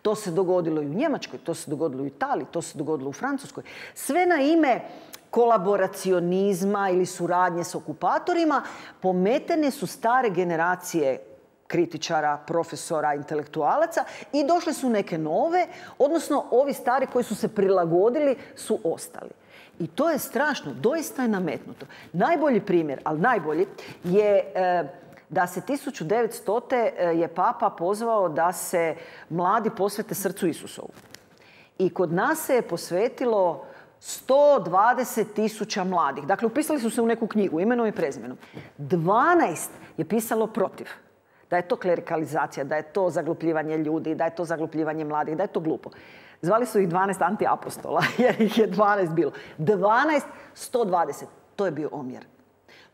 To se dogodilo i u Njemačkoj, to se dogodilo i u Italiji, to se dogodilo u Francuskoj. Sve na ime kolaboracionizma ili suradnje s okupatorima pometene su stare generacije kritičara, profesora, intelektualaca i došle su neke nove, odnosno ovi stari koji su se prilagodili su ostali. I to je strašno, doista je nametnuto. Najbolji primjer, ali najbolji, je da se tisuću devetstote je Papa pozvao da se mladi posvete srcu Isusovu. I kod nas se je posvetilo sto dvadeset tisuća mladih. Dakle, upisali su se u neku knjigu, imenom i prezimenom. dvanaest je pisalo protiv. Da je to klerikalizacija, da je to zaglupljivanje ljudi, da je to zaglupljivanje mladih, da je to glupo. Zvali su ih dvanaest antiapostola, jer ih je dvanaest bilo. dvanaest, sto dvadeset. To je bio omjer.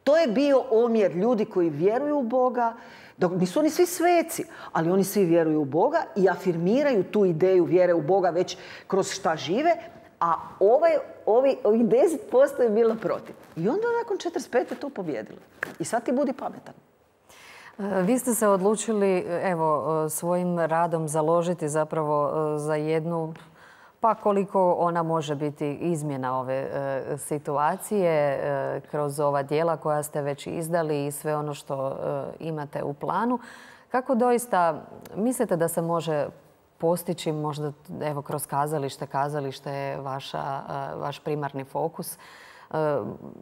To je bio omjer ljudi koji vjeruju u Boga, dok nisu oni svi sveci, ali oni svi vjeruju u Boga i afirmiraju tu ideju vjere u Boga već kroz šta žive, a ovaj, ovi, ovih deset posto je bilo protiv. I onda nakon četrdeset pete to pobjedilo. I sad ti budi pametan. Vi ste se odlučili evo, svojim radom založiti zapravo za jednu, pa koliko ona može biti izmjena ove e, situacije e, kroz ova djela koja ste već izdali i sve ono što e, imate u planu. Kako doista mislite da se može postići možda evo, kroz kazalište? Kazalište je vaša, e, vaš primarni fokus.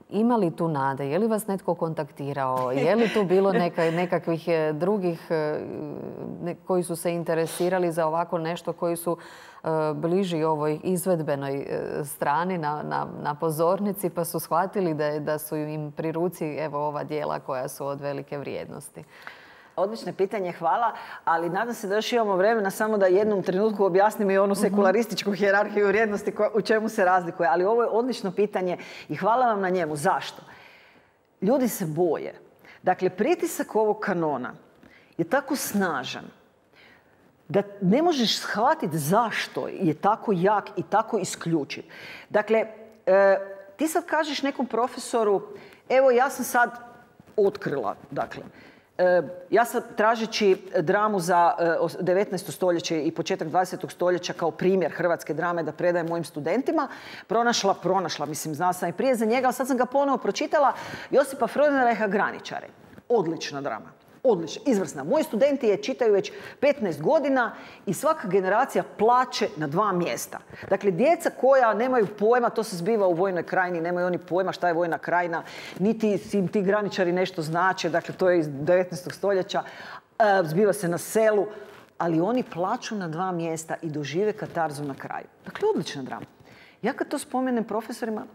Ima li tu nade? Je li vas netko kontaktirao? Je li tu bilo neka, nekakvih drugih koji su se interesirali za ovako nešto, koji su bliži ovoj izvedbenoj strani na, na, na pozornici pa su shvatili da, da su im pri ruci evo, ova djela koja su od velike vrijednosti? Odlično pitanje, hvala, ali nadam se da još imamo vremena samo da jednom trenutku objasnim i onu sekularističku hijerarhiju vrijednosti u čemu se razlikuje. Ali ovo je odlično pitanje i hvala vam na njemu. Zašto? Ljudi se boje. Dakle, pritisak ovog kanona je tako snažan da ne možeš shvatiti zašto je tako jak i tako isključiv. Dakle, e, ti sad kažeš nekom profesoru, evo ja sam sad otkrila, dakle, ja sam tražeći dramu za devetnaesto stoljeće i početak dvadesetog stoljeća kao primjer hrvatske drame da predajem mojim studentima, pronašla, pronašla, mislim, znala sam i prije za njega, ali sad sam ga ponovo pročitala, Josipa Freudenreicha Graničare. Odlična drama. Odlična, izvrsna. Moji studenti je čitaju već petnaest godina i svaka generacija plače na dva mjesta. Dakle, djeca koja nemaju pojma, to se zbiva u Vojnoj krajini, nemaju oni pojma šta je Vojna krajina, niti im ti graničari nešto znače, dakle, to je iz devetnaestog stoljeća, zbiva se na selu, ali oni plaču na dva mjesta i dožive katarzu na kraju. Dakle, odlična drama. Ja kad to spomenem profesorima,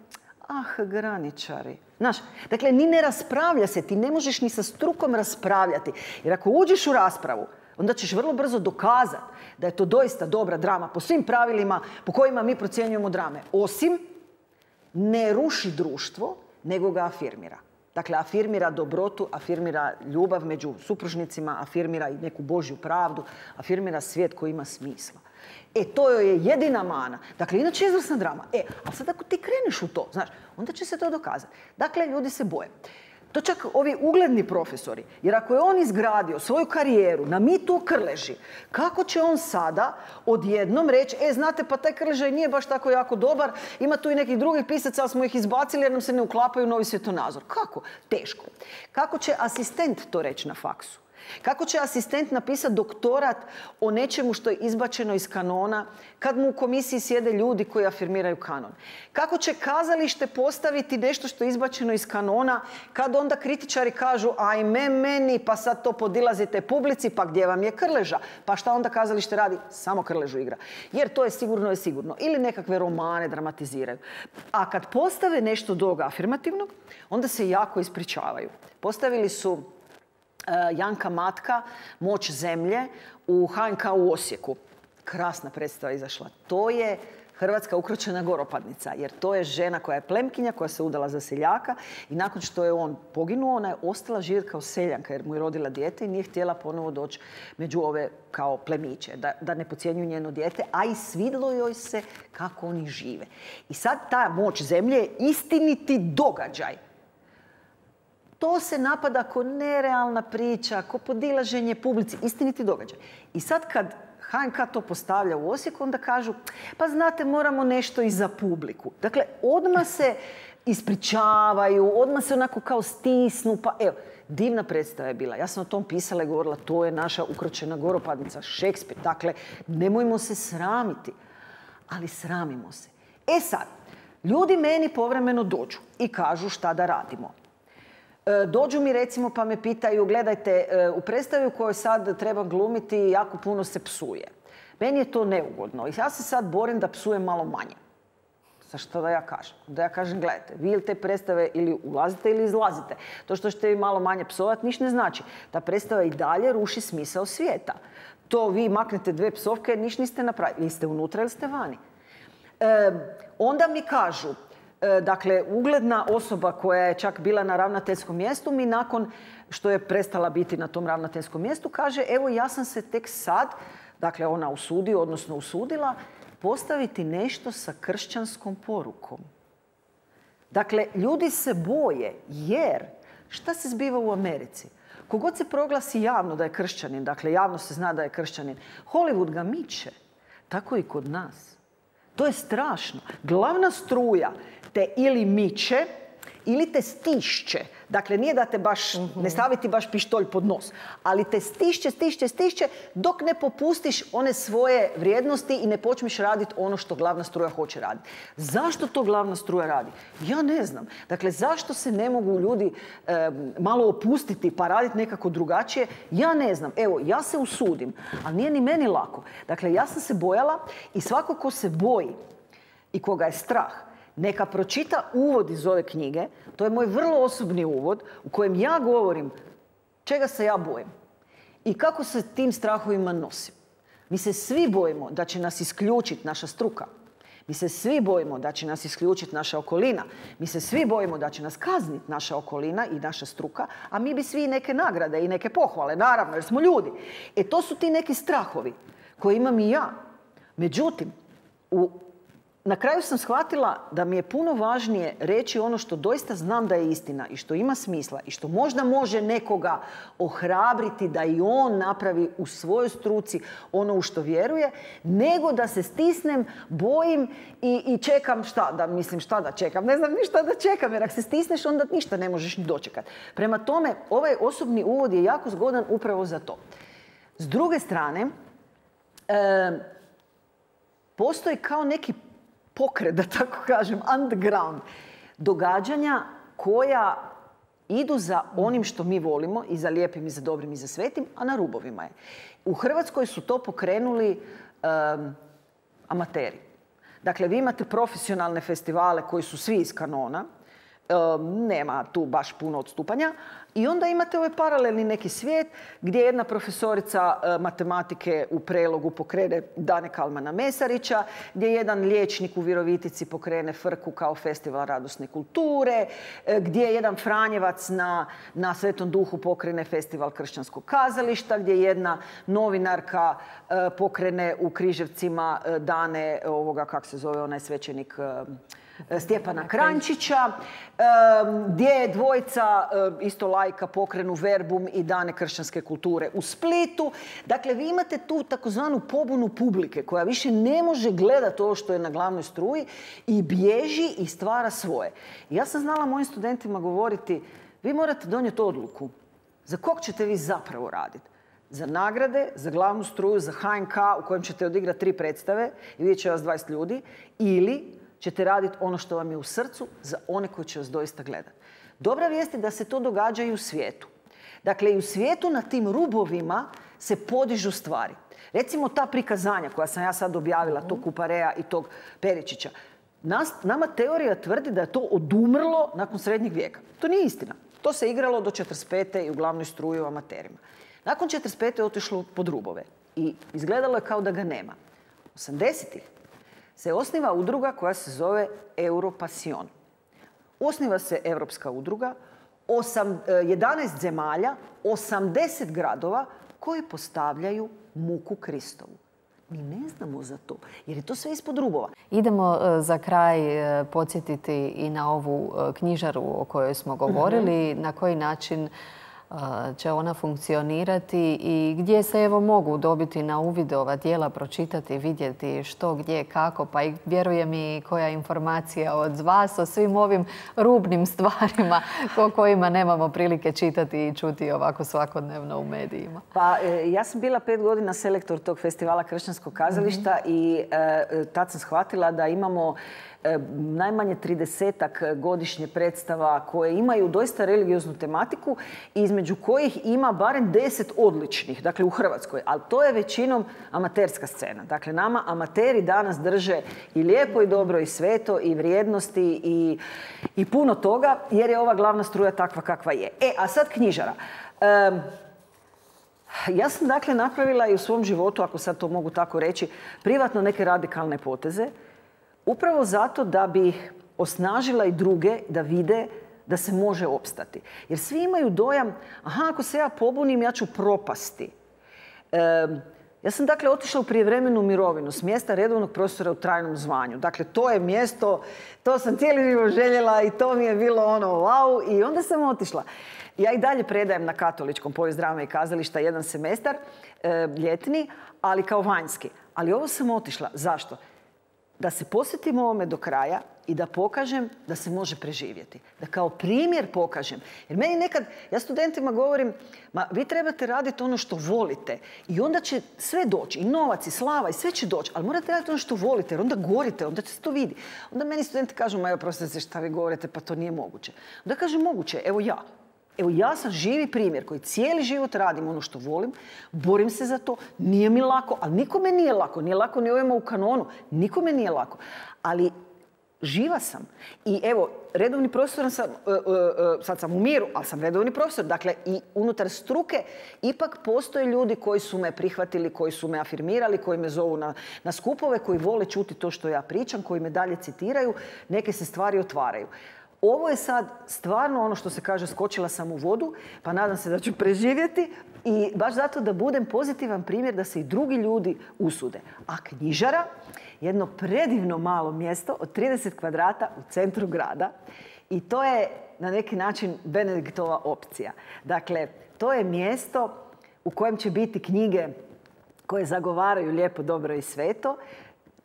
ah, graničari. Znaš, dakle, ni ne raspravlja se, ti ne možeš ni sa strukom raspravljati. Jer ako uđeš u raspravu, onda ćeš vrlo brzo dokazati da je to doista dobra drama po svim pravilima po kojima mi procjenjujemo drame. Osim, ne ruši društvo, nego ga afirmira. Dakle, afirmira dobrotu, afirmira ljubav među supružnicima, afirmira i neku Božju pravdu, afirmira svijet koji ima smisla. E, to joj je jedina mana. Dakle, inače je izvrsna drama. E, ali sad ako ti kreneš u to, znaš, onda će se to dokazati. Dakle, ljudi se boje. To čak ovi ugledni profesori, jer ako je on izgradio svoju karijeru na mitu o Krleži, kako će on sada odjednom reći, e, znate, pa taj Krleža nije baš tako jako dobar, ima tu i nekih drugih pisaca, ali smo ih izbacili jer nam se ne uklapaju u novi svjetonazor. Kako? Teško. Kako će asistent to reći na faksu? Kako će asistent napisati doktorat o nečemu što je izbačeno iz kanona kad mu u komisiji sjede ljudi koji afirmiraju kanon? Kako će kazalište postaviti nešto što je izbačeno iz kanona kad onda kritičari kažu ajme meni, pa sad to podilazite publici, pa gdje vam je Krleža? Pa šta onda kazalište radi? Samo Krležu igra. Jer to je sigurno je sigurno. Ili nekakve romane dramatiziraju. A kad postave nešto drugo afirmativnog, onda se jako ispričavaju. Postavili su Janka Matka, Moć zemlje u H N K u Osijeku. Krasna predstava izašla. To je Hrvatska ukročena goropadnica, jer to je žena koja je plemkinja, koja se udala za seljaka i nakon što je on poginuo, ona je ostala živjeti kao seljanka jer mu je rodila dijete i nije htjela ponovo doći među ove kao plemiće, da, da ne podcjenjuju njeno dijete, a i svidlo joj se kako oni žive. I sad ta Moć zemlje je istiniti događaj. To se napada kao nerealna priča, kao podilaženje publici, istiniti događaj. I sad kad H N K to postavlja u Osijeku, onda kažu, pa znate, moramo nešto i za publiku. Dakle, odmah se ispričavaju, odmah se onako kao stisnu, pa evo, Divna predstava je bila. Ja sam o tom pisala i govorila, to je naša ukročena goropadnica, Šekspir. Dakle, nemojmo se sramiti, ali sramimo se. E sad, ljudi meni povremeno dođu i kažu šta da radimo. Dođu mi recimo pa me pitaju, gledajte, u predstavi u kojoj sad treba glumiti jako puno se psuje. Meni je to neugodno i ja se sad borim da psujem malo manje. Sa što da ja kažem? Da ja kažem, gledajte, vi ili te predstave ili ulazite ili izlazite. To što ćete vi malo manje psovati ništa ne znači. Ta predstava i dalje ruši smisao svijeta. To vi maknete dve psovke, ništa niste napravili. Ili ste unutra ili ste vani. E, onda mi kažu, e, dakle, ugledna osoba koja je čak bila na ravnateljskom mjestu mi nakon što je prestala biti na tom ravnateljskom mjestu kaže, evo ja sam se tek sad, dakle ona usudi, odnosno usudila, postaviti nešto sa kršćanskom porukom. Dakle, ljudi se boje jer šta se zbiva u Americi? Kogod se proglasi javno da je kršćanin, dakle javno se zna da je kršćanin, Hollywood ga miče. Tako i kod nas. To je strašno. Glavna struja te ili miče ili te stišće. Dakle, nije da te baš, ne staviti baš pištolj pod nos, ali te stišće, stišće, stišće dok ne popustiš one svoje vrijednosti i ne počneš raditi ono što glavna struja hoće raditi. Zašto to glavna struja radi? Ja ne znam. Dakle, zašto se ne mogu ljudi e, malo opustiti pa raditi nekako drugačije? Ja ne znam. Evo, ja se usudim, ali nije ni meni lako. Dakle, ja sam se bojala i svako ko se boji i koga je strah, neka pročita uvod iz ove knjige. To je moj vrlo osobni uvod u kojem ja govorim čega se ja bojim i kako se tim strahovima nosim. Mi se svi bojimo da će nas isključiti naša struka. Mi se svi bojimo da će nas isključiti naša okolina. Mi se svi bojimo da će nas kazniti naša okolina i naša struka, a mi bi svi neke nagrade i neke pohvale, naravno, jer smo ljudi. E to su ti neki strahovi koje imam i ja. Međutim, u Na kraju sam shvatila da mi je puno važnije reći ono što doista znam da je istina i što ima smisla i što možda može nekoga ohrabriti da i on napravi u svojoj struci ono u što vjeruje, nego da se stisnem, bojim i, i čekam šta da, mislim šta da čekam. Ne znam ni šta da čekam jer ako se stisneš onda ništa ne možeš ni dočekati. Prema tome, ovaj osobni uvod je jako zgodan upravo za to. S druge strane, e, postoji kao neki pokret, da tako kažem, underground, događanja koja idu za onim što mi volimo, i za lijepim, i za dobrim, i za svetim, a na rubovima je. U Hrvatskoj su to pokrenuli um, amateri. Dakle, vi imate profesionalne festivale koji su svi iz kanona, um, nema tu baš puno odstupanja, i onda imate ovaj paralelni neki svijet gdje jedna profesorica e, matematike u Prelogu pokrene Dane Kalmana Mesarića, gdje jedan liječnik u Virovitici pokrene Frku kao festival radosne kulture, e, gdje jedan Franjevac na, na Svetom Duhu pokrene festival kršćanskog kazališta, gdje jedna novinarka e, pokrene u Križevcima e, dane ovoga, kako se zove onaj svećenik, e, Stjepana Kranjčića, gdje je dvojica isto laika pokrenu Verbum i Dane kršćanske kulture u Splitu. Dakle, vi imate tu takozvanu pobunu publike koja više ne može gledati ovo što je na glavnoj struji i bježi i stvara svoje. Ja sam znala mojim studentima govoriti, vi morate donijeti odluku za kog ćete vi zapravo raditi. Za nagrade, za glavnu struju, za H N K u kojem ćete odigrati tri predstave i vidjet će vas dvadeset ljudi, ili ćete raditi ono što vam je u srcu za one koji će vas doista gledati. Dobra vijest je da se to događa i u svijetu. Dakle, i u svijetu na tim rubovima se podižu stvari. Recimo ta prikazanja koja sam ja sad objavila, tog Kupareja i tog Peričića. Nas, nama teorija tvrdi da je to odumrlo nakon srednjeg vijeka. To nije istina. To se igralo do četrdeset pete i u glavnoj struji u amaterima. Nakon četrdeset pete je otišlo pod rubove i izgledalo je kao da ga nema. osamdesetih se osniva udruga koja se zove Europasion. Osniva se europska udruga, osam, jedanaest zemalja, osamdeset gradova koji postavljaju muku Kristovu. Mi ne znamo za to, jer je to sve ispod rubova. Idemo za kraj podsjetiti i na ovu knjižaru o kojoj smo govorili, mm-hmm. na koji način će ona funkcionirati i gdje se evo mogu dobiti na uvid ova djela, pročitati, vidjeti što, gdje, kako, pa i vjerujem i koja informacija od vas o svim ovim rubnim stvarima o kojima nemamo prilike čitati i čuti ovako svakodnevno u medijima. Pa ja sam bila pet godina selektor tog festivala kršćanskog kazališta mm-hmm. i e, tad sam shvatila da imamo najmanje tridesetak godišnje predstava koje imaju doista religioznu tematiku i između kojih ima barem deset odličnih, dakle u Hrvatskoj, ali to je većinom amaterska scena. Dakle, nama amateri danas drže i lijepo i dobro i sveto i vrijednosti i, i puno toga, jer je ova glavna struja takva kakva je. E, a sad knjižara. Um, ja sam dakle napravila i u svom životu, ako sad to mogu tako reći, privatno neke radikalne poteze, upravo zato da bi osnažila i druge da vide da se može opstati. Jer svi imaju dojam, aha, ako se ja pobunim, ja ću propasti. E, ja sam dakle otišla u prijevremenu mirovinu s mjesta redovnog profesora u trajnom zvanju. Dakle, to je mjesto, to sam cijeli život željela i to mi je bilo ono wow. I onda sam otišla. Ja i dalje predajem na Katoličkom povijest drame i kazališta jedan semestar, e, ljetni, ali kao vanjski. Ali ovo sam otišla. Zašto? Da se posvetim ovome do kraja i da pokažem da se može preživjeti. Da kao primjer pokažem. Jer meni nekad, ja studentima govorim, ma vi trebate raditi ono što volite i onda će sve doći, i novac, i slava, i sve će doći, ali morate raditi ono što volite, jer onda gorite, onda se to vidi. Onda meni studenti kažu, ma evo, prostite šta vi govorite, pa to nije moguće. Onda kažem, moguće, evo ja. Evo, ja sam živi primjer koji cijeli život radim ono što volim, borim se za to, nije mi lako, ali nikome nije lako, nije lako ni ovima u kanonu, nikome nije lako. Ali živa sam. I evo, redovni profesor sam, uh, uh, uh, sad sam u miru, ali sam redovni profesor. Dakle, i unutar struke ipak postoje ljudi koji su me prihvatili, koji su me afirmirali, koji me zovu na, na skupove, koji vole čuti to što ja pričam, koji me dalje citiraju, neke se stvari otvaraju. Ovo je sad stvarno ono što se kaže, skočila sam u vodu, pa nadam se da ću preživjeti i baš zato da budem pozitivan primjer da se i drugi ljudi usude. A knjižara, jedno predivno malo mjesto od trideset kvadrata u centru grada i to je na neki način Benediktova opcija. Dakle, to je mjesto u kojem će biti knjige koje zagovaraju lijepo, dobro i sveto,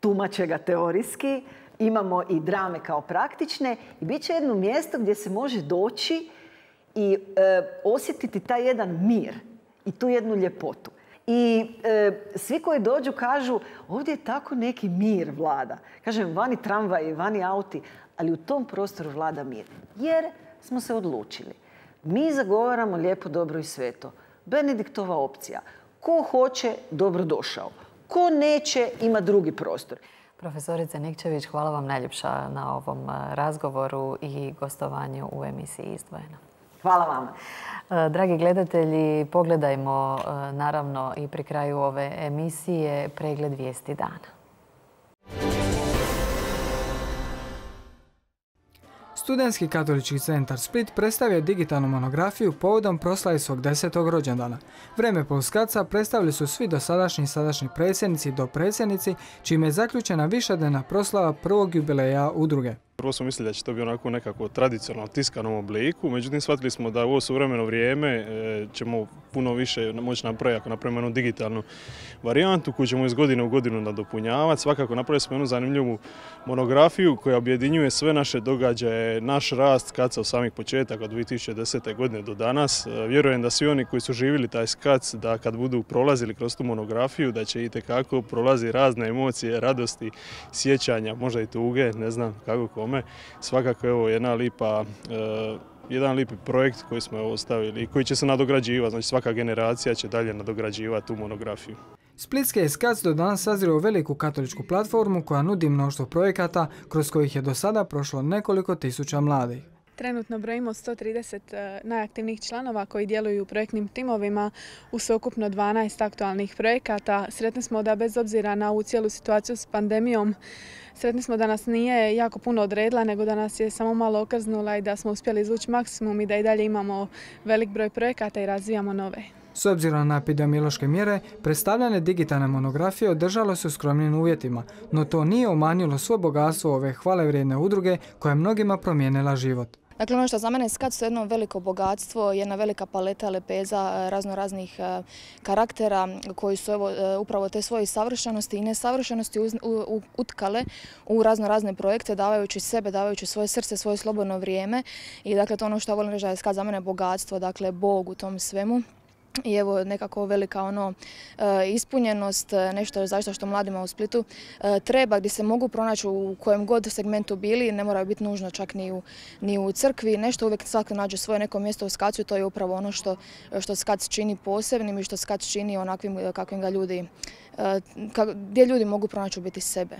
tumače ga teorijski, imamo i drame kao praktične i bit će jedno mjesto gdje se može doći i e, osjetiti taj jedan mir i tu jednu ljepotu. I e, svi koji dođu kažu, ovdje je tako neki mir vlada. Kažem, vani tramvaji, vani auti, ali u tom prostoru vlada mir. Jer smo se odlučili. Mi zagovaramo lijepo, dobro i sveto. Benediktova opcija. Ko hoće, dobro došao. Ko neće, ima drugi prostor. Profesorice Nikčević, hvala vam najljepša na ovom razgovoru i gostovanju u emisiji Izdvojeno. Hvala vama. Dragi gledatelji, pogledajmo naravno i pri kraju ove emisije pregled vijesti dana. Studentski katolički centar Split predstavio digitalnu monografiju povodom proslave svog desetog rođendana. Vreme Polskaca predstavili su svi dosadašnji i sadašnji predsjednici i dopredsjednici, čime je zaključena višednevna proslava prvog jubileja udruge. Prvo smo mislili da će to biti onako nekako tradicionalno tiskanom obliku, međutim shvatili smo da u ovo suvremeno vrijeme ćemo puno više moći napraviti ako napravimo jednu digitalnu varijantu koju ćemo iz godine u godinu nadopunjavati. Svakako napravili smo jednu zanimljivu monografiju koja objedinjuje sve naše događaje, naš rast skaca od samih početaka od dvije tisuće desete. godine do danas. Vjerujem da svi oni koji su živjeli taj skac, da kad budu prolazili kroz tu monografiju, da će itekako prolazi razne emocije, radosti, sjećanja, možda i tuge, ne znam kako kome. Svakako je ovo jedna lipa, eh, jedan lipi projekt koji smo ostavili i koji će se nadograđivati. Znači svaka generacija će dalje nadograđivati tu monografiju. Splitski je skac do danas sazrio veliku katoličku platformu koja nudi mnoštvo projekata kroz kojih je do sada prošlo nekoliko tisuća mladih. Trenutno brojimo sto trideset najaktivnijih članova koji djeluju u projektnim timovima u sveukupno dvanaest aktualnih projekata. Sretni smo da bez obzira na ovu cijelu situaciju s pandemijom, sretni smo da nas nije jako puno odredila, nego da nas je samo malo okrznula i da smo uspjeli izvući maksimum i da i dalje imamo velik broj projekata i razvijamo nove. S obzirom na epidemiološke mjere, predstavljane digitalne monografije održalo se u skromnim uvjetima, no to nije umanjilo svo bogatstvo ove hvalevrijedne udruge koja je mnogima promijenila život. Dakle, ono što za mene skac je jedno veliko bogatstvo, jedna velika paleta lepeza razno raznih karaktera koji su evo, upravo te svoje savršenosti i nesavršenosti utkale u razno razne projekte, davajući sebe, davajući svoje srce, svoje slobodno vrijeme. I dakle, to ono što volim reći da je skac za mene bogatstvo, dakle, Bog u tom svemu. I evo nekako velika ono ispunjenost, nešto zaista što mladima u Splitu treba, gdje se mogu pronaći u kojem god segmentu bili, ne moraju biti nužno čak ni u, ni u crkvi, nešto uvijek svako nađe svoje neko mjesto u skacu i to je upravo ono što, što skac čini posebnim i što skac čini onakvim kakvim ga ljudi, gdje ljudi mogu pronaći u biti sebe.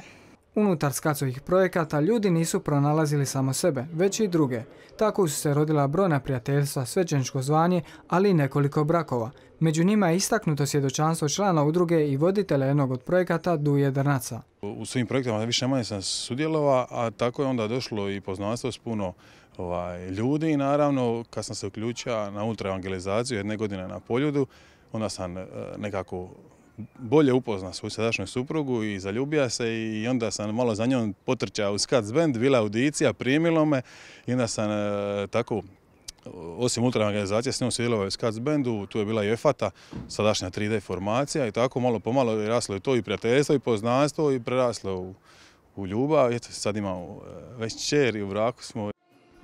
Unutar skacovih projekata ljudi nisu pronalazili samo sebe, već i druge. Tako su se rodila brojna prijateljstva, svećeničko zvanje, ali i nekoliko brakova. Među njima je istaknuto svjedočanstvo člana udruge i voditelja jednog od projekata Duje Drnaca. U svim projektima više manje sam sudjelovao, a tako je onda došlo i poznanstvo s puno ovaj, ljudi i naravno kad sam se uključio na ultraevangelizaciju jedne godine na Poljudu, onda sam nekako bolje upoznao svoju sadašnju suprugu i zaljubio se i onda sam malo za njom potrčao u skac band, bila audicija, primilo me i onda sam e, tako, osim ultraevangelizacije, s njom sudjelovao u skac bandu, tu je bila i EFATA, sadašnja tri D formacija i tako malo pomalo je raslo i to i prijateljstvo i poznanstvo i preraslo u, u ljubav. Eto, sad imamo već kćer i u braku smo.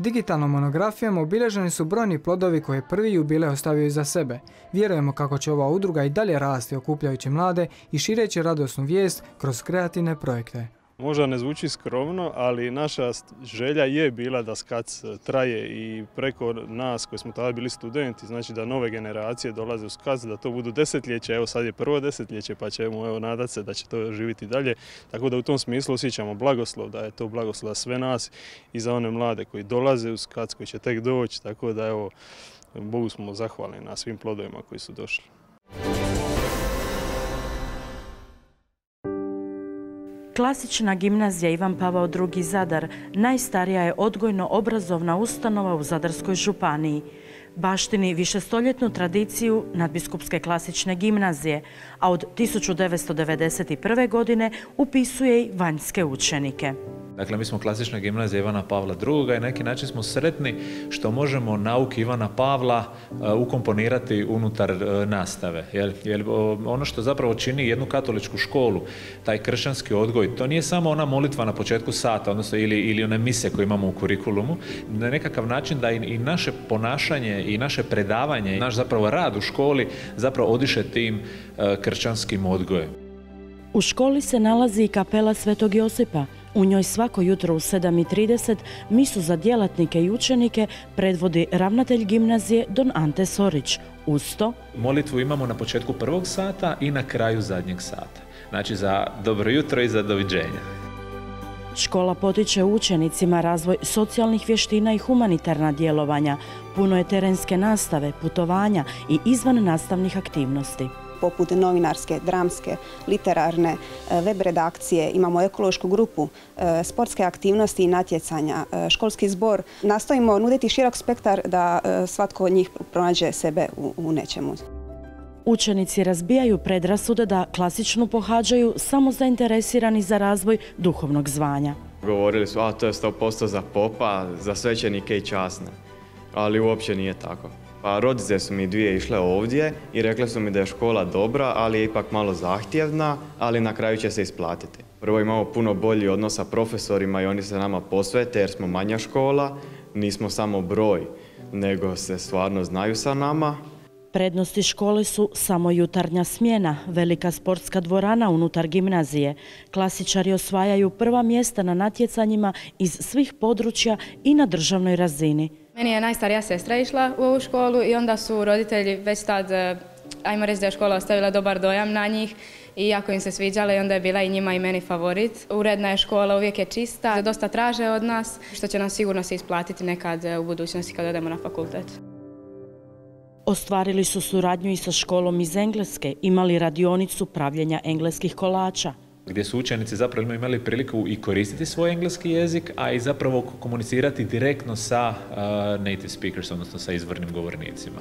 Digitalnom monografijom obilježeni su brojni plodovi koje prvi jubilej ostavio iza sebe. Vjerujemo kako će ova udruga i dalje rasti okupljajući mlade i šireći radosnu vijest kroz kreativne projekte. Možda ne zvuči skromno, ali naša želja je bila da skac traje i preko nas koji smo tada bili studenti, znači da nove generacije dolaze u skac, da to budu desetljeće, evo sad je prvo desetljeće pa ćemo evo nadati se da će to živjeti dalje. Tako da u tom smislu osjećamo blagoslov, da je to blagoslov za sve nas i za one mlade koji dolaze u skac, koji će tek doći, tako da evo Bogu smo zahvalni na svim plodovima koji su došli. Klasična gimnazija Ivan Pavao drugi Zadar najstarija je odgojno-obrazovna ustanova u Zadarskoj županiji. Baštini višestoljetnu tradiciju Nadbiskupske klasične gimnazije, a od tisuću devetsto devedeset prve. godine upisuje i vanjske učenike. Dakle, mi smo klasična gimnazija Ivana Pavla drugoga i na neki način smo sretni što možemo nauke Ivana Pavla ukomponirati unutar nastave. Jer, jer ono što zapravo čini jednu katoličku školu, taj kršćanski odgoj, to nije samo ona molitva na početku sata, odnosno ili, ili one mise koje imamo u kurikulumu, na nekakav način da i, i naše ponašanje i naše predavanje, i naš zapravo rad u školi zapravo odiše tim kršćanskim odgojem. U školi se nalazi i kapela Svetog Josipa. U njoj svako jutro u sedam i trideset misu za djelatnike i učenike predvodi ravnatelj gimnazije don Ante Sorić. Uz to molitvu imamo na početku prvog sata i na kraju zadnjeg sata. Znači za dobro jutro i za doviđenja. Škola potiče učenicima razvoj socijalnih vještina i humanitarna djelovanja. Puno je terenske nastave, putovanja i izvan nastavnih aktivnosti. Poput novinarske, dramske, literarne, web redakcije, imamo ekološku grupu, sportske aktivnosti i natjecanja, školski zbor. Nastojimo nuditi širok spektar da svatko od njih pronađe sebe u, u nečemu. Učenici razbijaju predrasude da klasičnu pohađaju samo zainteresirani za razvoj duhovnog zvanja. Govorili su, a to je sto posto za popa, za svećenike i časne, ali uopće nije tako. Pa rodice su mi dvije išle ovdje i rekle su mi da je škola dobra, ali je ipak malo zahtjevna, ali na kraju će se isplatiti. Prvo imamo puno bolji odnos sa profesorima i oni se nama posvete jer smo manja škola, nismo samo broj, nego se stvarno znaju sa nama. Prednosti škole su samo jutarnja smjena, velika sportska dvorana unutar gimnazije. Klasičari osvajaju prva mjesta na natjecanjima iz svih područja i na državnoj razini. Meni je najstarija sestra išla u ovu školu i onda su roditelji već tad, ajmo reći da je škola ostavila dobar dojam na njih i jako im se sviđala i onda je bila i njima i meni favorit. Uredna je škola, uvijek je čista, dosta traže od nas, što će nam sigurno se isplatiti nekad u budućnosti kad odemo na fakultet. Ostvarili su suradnju i sa školom iz Engleske, imali radionicu pravljenja engleskih kolača. Gdje su učenici zapravo imali priliku i koristiti svoj engleski jezik, a i zapravo komunicirati direktno sa uh, native speakers, odnosno sa izvornim govornicima.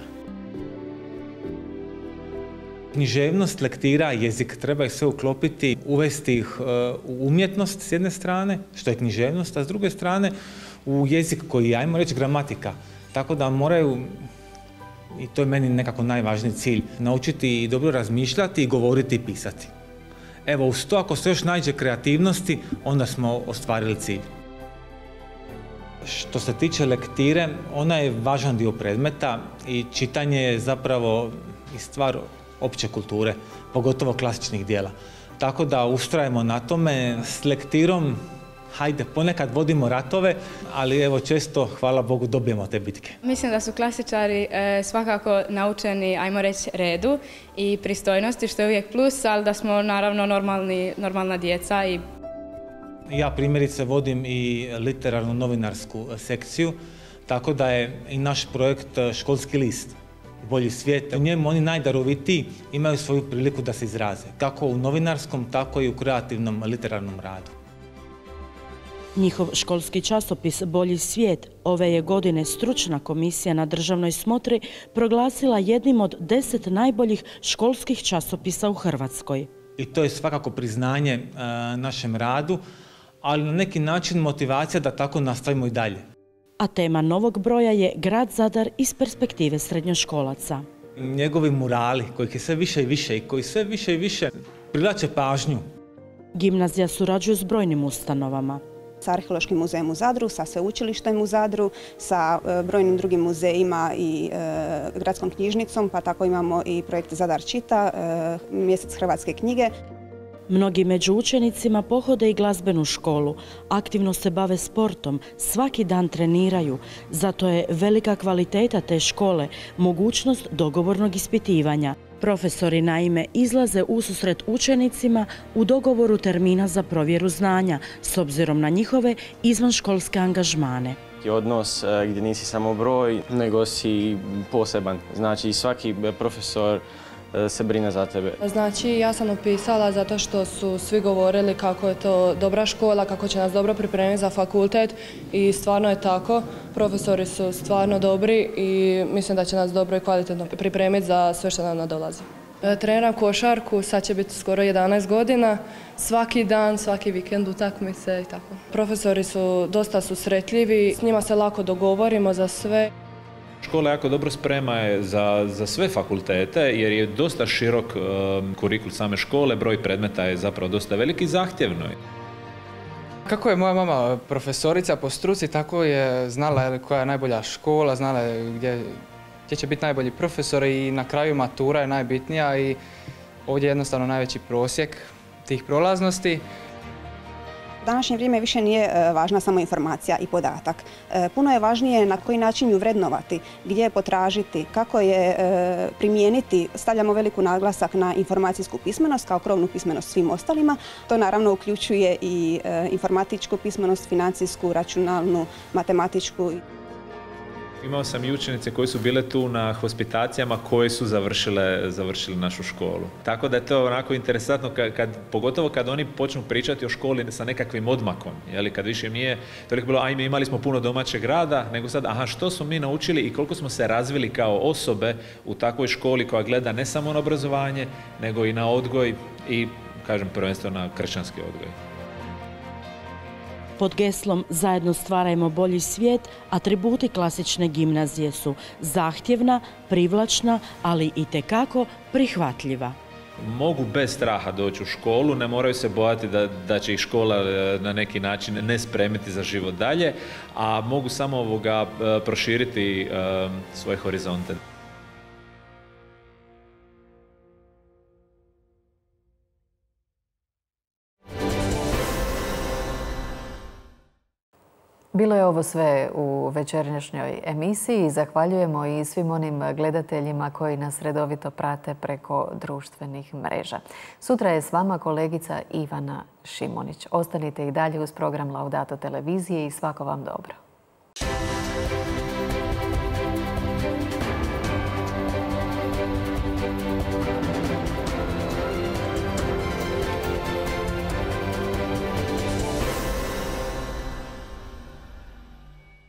Književnost, lektira, jezik, treba ih sve uklopiti, uvesti ih uh, u umjetnost s jedne strane, što je književnost, a s druge strane u jezik koji je, ajmo reći, gramatika. Tako da moraju, i to je meni nekako najvažniji cilj, naučiti i dobro razmišljati i govoriti i pisati. Evo, uz to ako se još nađe kreativnosti, onda smo ostvarili cilj. Što se tiče lektire, ona je važan dio predmeta i čitanje je zapravo i stvar opće kulture, pogotovo klasičnih dijela. Tako da ustrajemo na tome s lektirom. Hajde, ponekad vodimo ratove, ali evo često, hvala Bogu, dobijemo te bitke. Mislim da su klasičari e, svakako naučeni, ajmo reći, redu i pristojnosti, što je uvijek plus, ali da smo naravno normalni, normalna djeca. I... Ja primjerice vodim i literarnu novinarsku sekciju, tako da je i naš projekt Školski list, Bolji svijet. U njemu oni najdarovitiji imaju svoju priliku da se izraze, kako u novinarskom, tako i u kreativnom literarnom radu. Njihov školski časopis Bolji svijet ove je godine stručna komisija na državnoj smotri proglasila jednim od deset najboljih školskih časopisa u Hrvatskoj. I to je svakako priznanje e, našem radu, ali na neki način motivacija da tako nastavimo i dalje. A tema novog broja je Grad Zadar iz perspektive srednjoškolaca. Njegovi murali, kojih je sve više i više i koji sve više i više privlače pažnju. Gimnazija surađuje s brojnim ustanovama. Sa Arheološkim muzejem u Zadru, sa Sveučilištem u Zadru, sa brojnim drugim muzejima i e, gradskom knjižnicom, pa tako imamo i projekt Zadar čita, e, mjesec hrvatske knjige. Mnogi među učenicima pohode i glazbenu školu, aktivno se bave sportom, svaki dan treniraju. Zato je velika kvaliteta te škole mogućnost dogovornog ispitivanja. Profesori naime izlaze ususret učenicima u dogovoru termina za provjeru znanja, s obzirom na njihove izvanškolske angažmane. Odnos gdje nisi samo broj, nego si poseban. Znači svaki profesor se brine za tebe. Znači ja sam upisala zato što su svi govorili kako je to dobra škola, kako će nas dobro pripremiti za fakultet i stvarno je tako. Profesori su stvarno dobri i mislim da će nas dobro i kvalitetno pripremiti za sve što nam nadolazi. Treniram košarku, sad će biti skoro jedanaest godina, svaki dan, svaki vikend utakmice i tako. Profesori su dosta susretljivi, s njima se lako dogovorimo za sve. Škola jako dobro sprema je za, za sve fakultete jer je dosta širok um, kurikul same škole, broj predmeta je zapravo dosta veliki i zahtjevno. Kako je moja mama profesorica po struci, tako je znala koja je najbolja škola, znala je gdje, gdje će biti najbolji profesor i na kraju matura je najbitnija i ovdje je jednostavno najveći prosjek tih prolaznosti. U današnje vrijeme više nije važna samo informacija i podatak. Puno je važnije na koji način ju vrednovati, gdje je potražiti, kako je primijeniti. Stavljamo veliku naglasak na informacijsku pismenost kao krovnu pismenost svim ostalima. To naravno uključuje i informatičku pismenost, financijsku, računalnu, matematičku. Imao sam i učenice koji su bile tu na hospitacijama koje su završile, završile našu školu. Tako da je to onako interesantno, kad, kad, pogotovo kad oni počnu pričati o školi sa nekakvim odmakom. Jeli, kad više nije toliko bilo, ajme imali smo puno domaćeg rada, nego sad, aha, što smo mi naučili i koliko smo se razvili kao osobe u takvoj školi koja gleda ne samo na obrazovanje, nego i na odgoj i, kažem, prvenstveno na kršćanski odgoj. Pod geslom Zajedno stvarajmo bolji svijet, atributi klasične gimnazije su zahtjevna, privlačna, ali i tekako prihvatljiva. Mogu bez straha doći u školu, ne moraju se bojati da, da će ih škola na neki način ne spremiti za život dalje, a mogu samo ovoga proširiti um, svoje horizonte. Bilo je ovo sve u večernjašnjoj emisiji. Zahvaljujemo i svim onim gledateljima koji nas redovito prate preko društvenih mreža. Sutra je s vama kolegica Ivana Šimunić. Ostanite i dalje uz program Laudato televizije i svako vam dobro.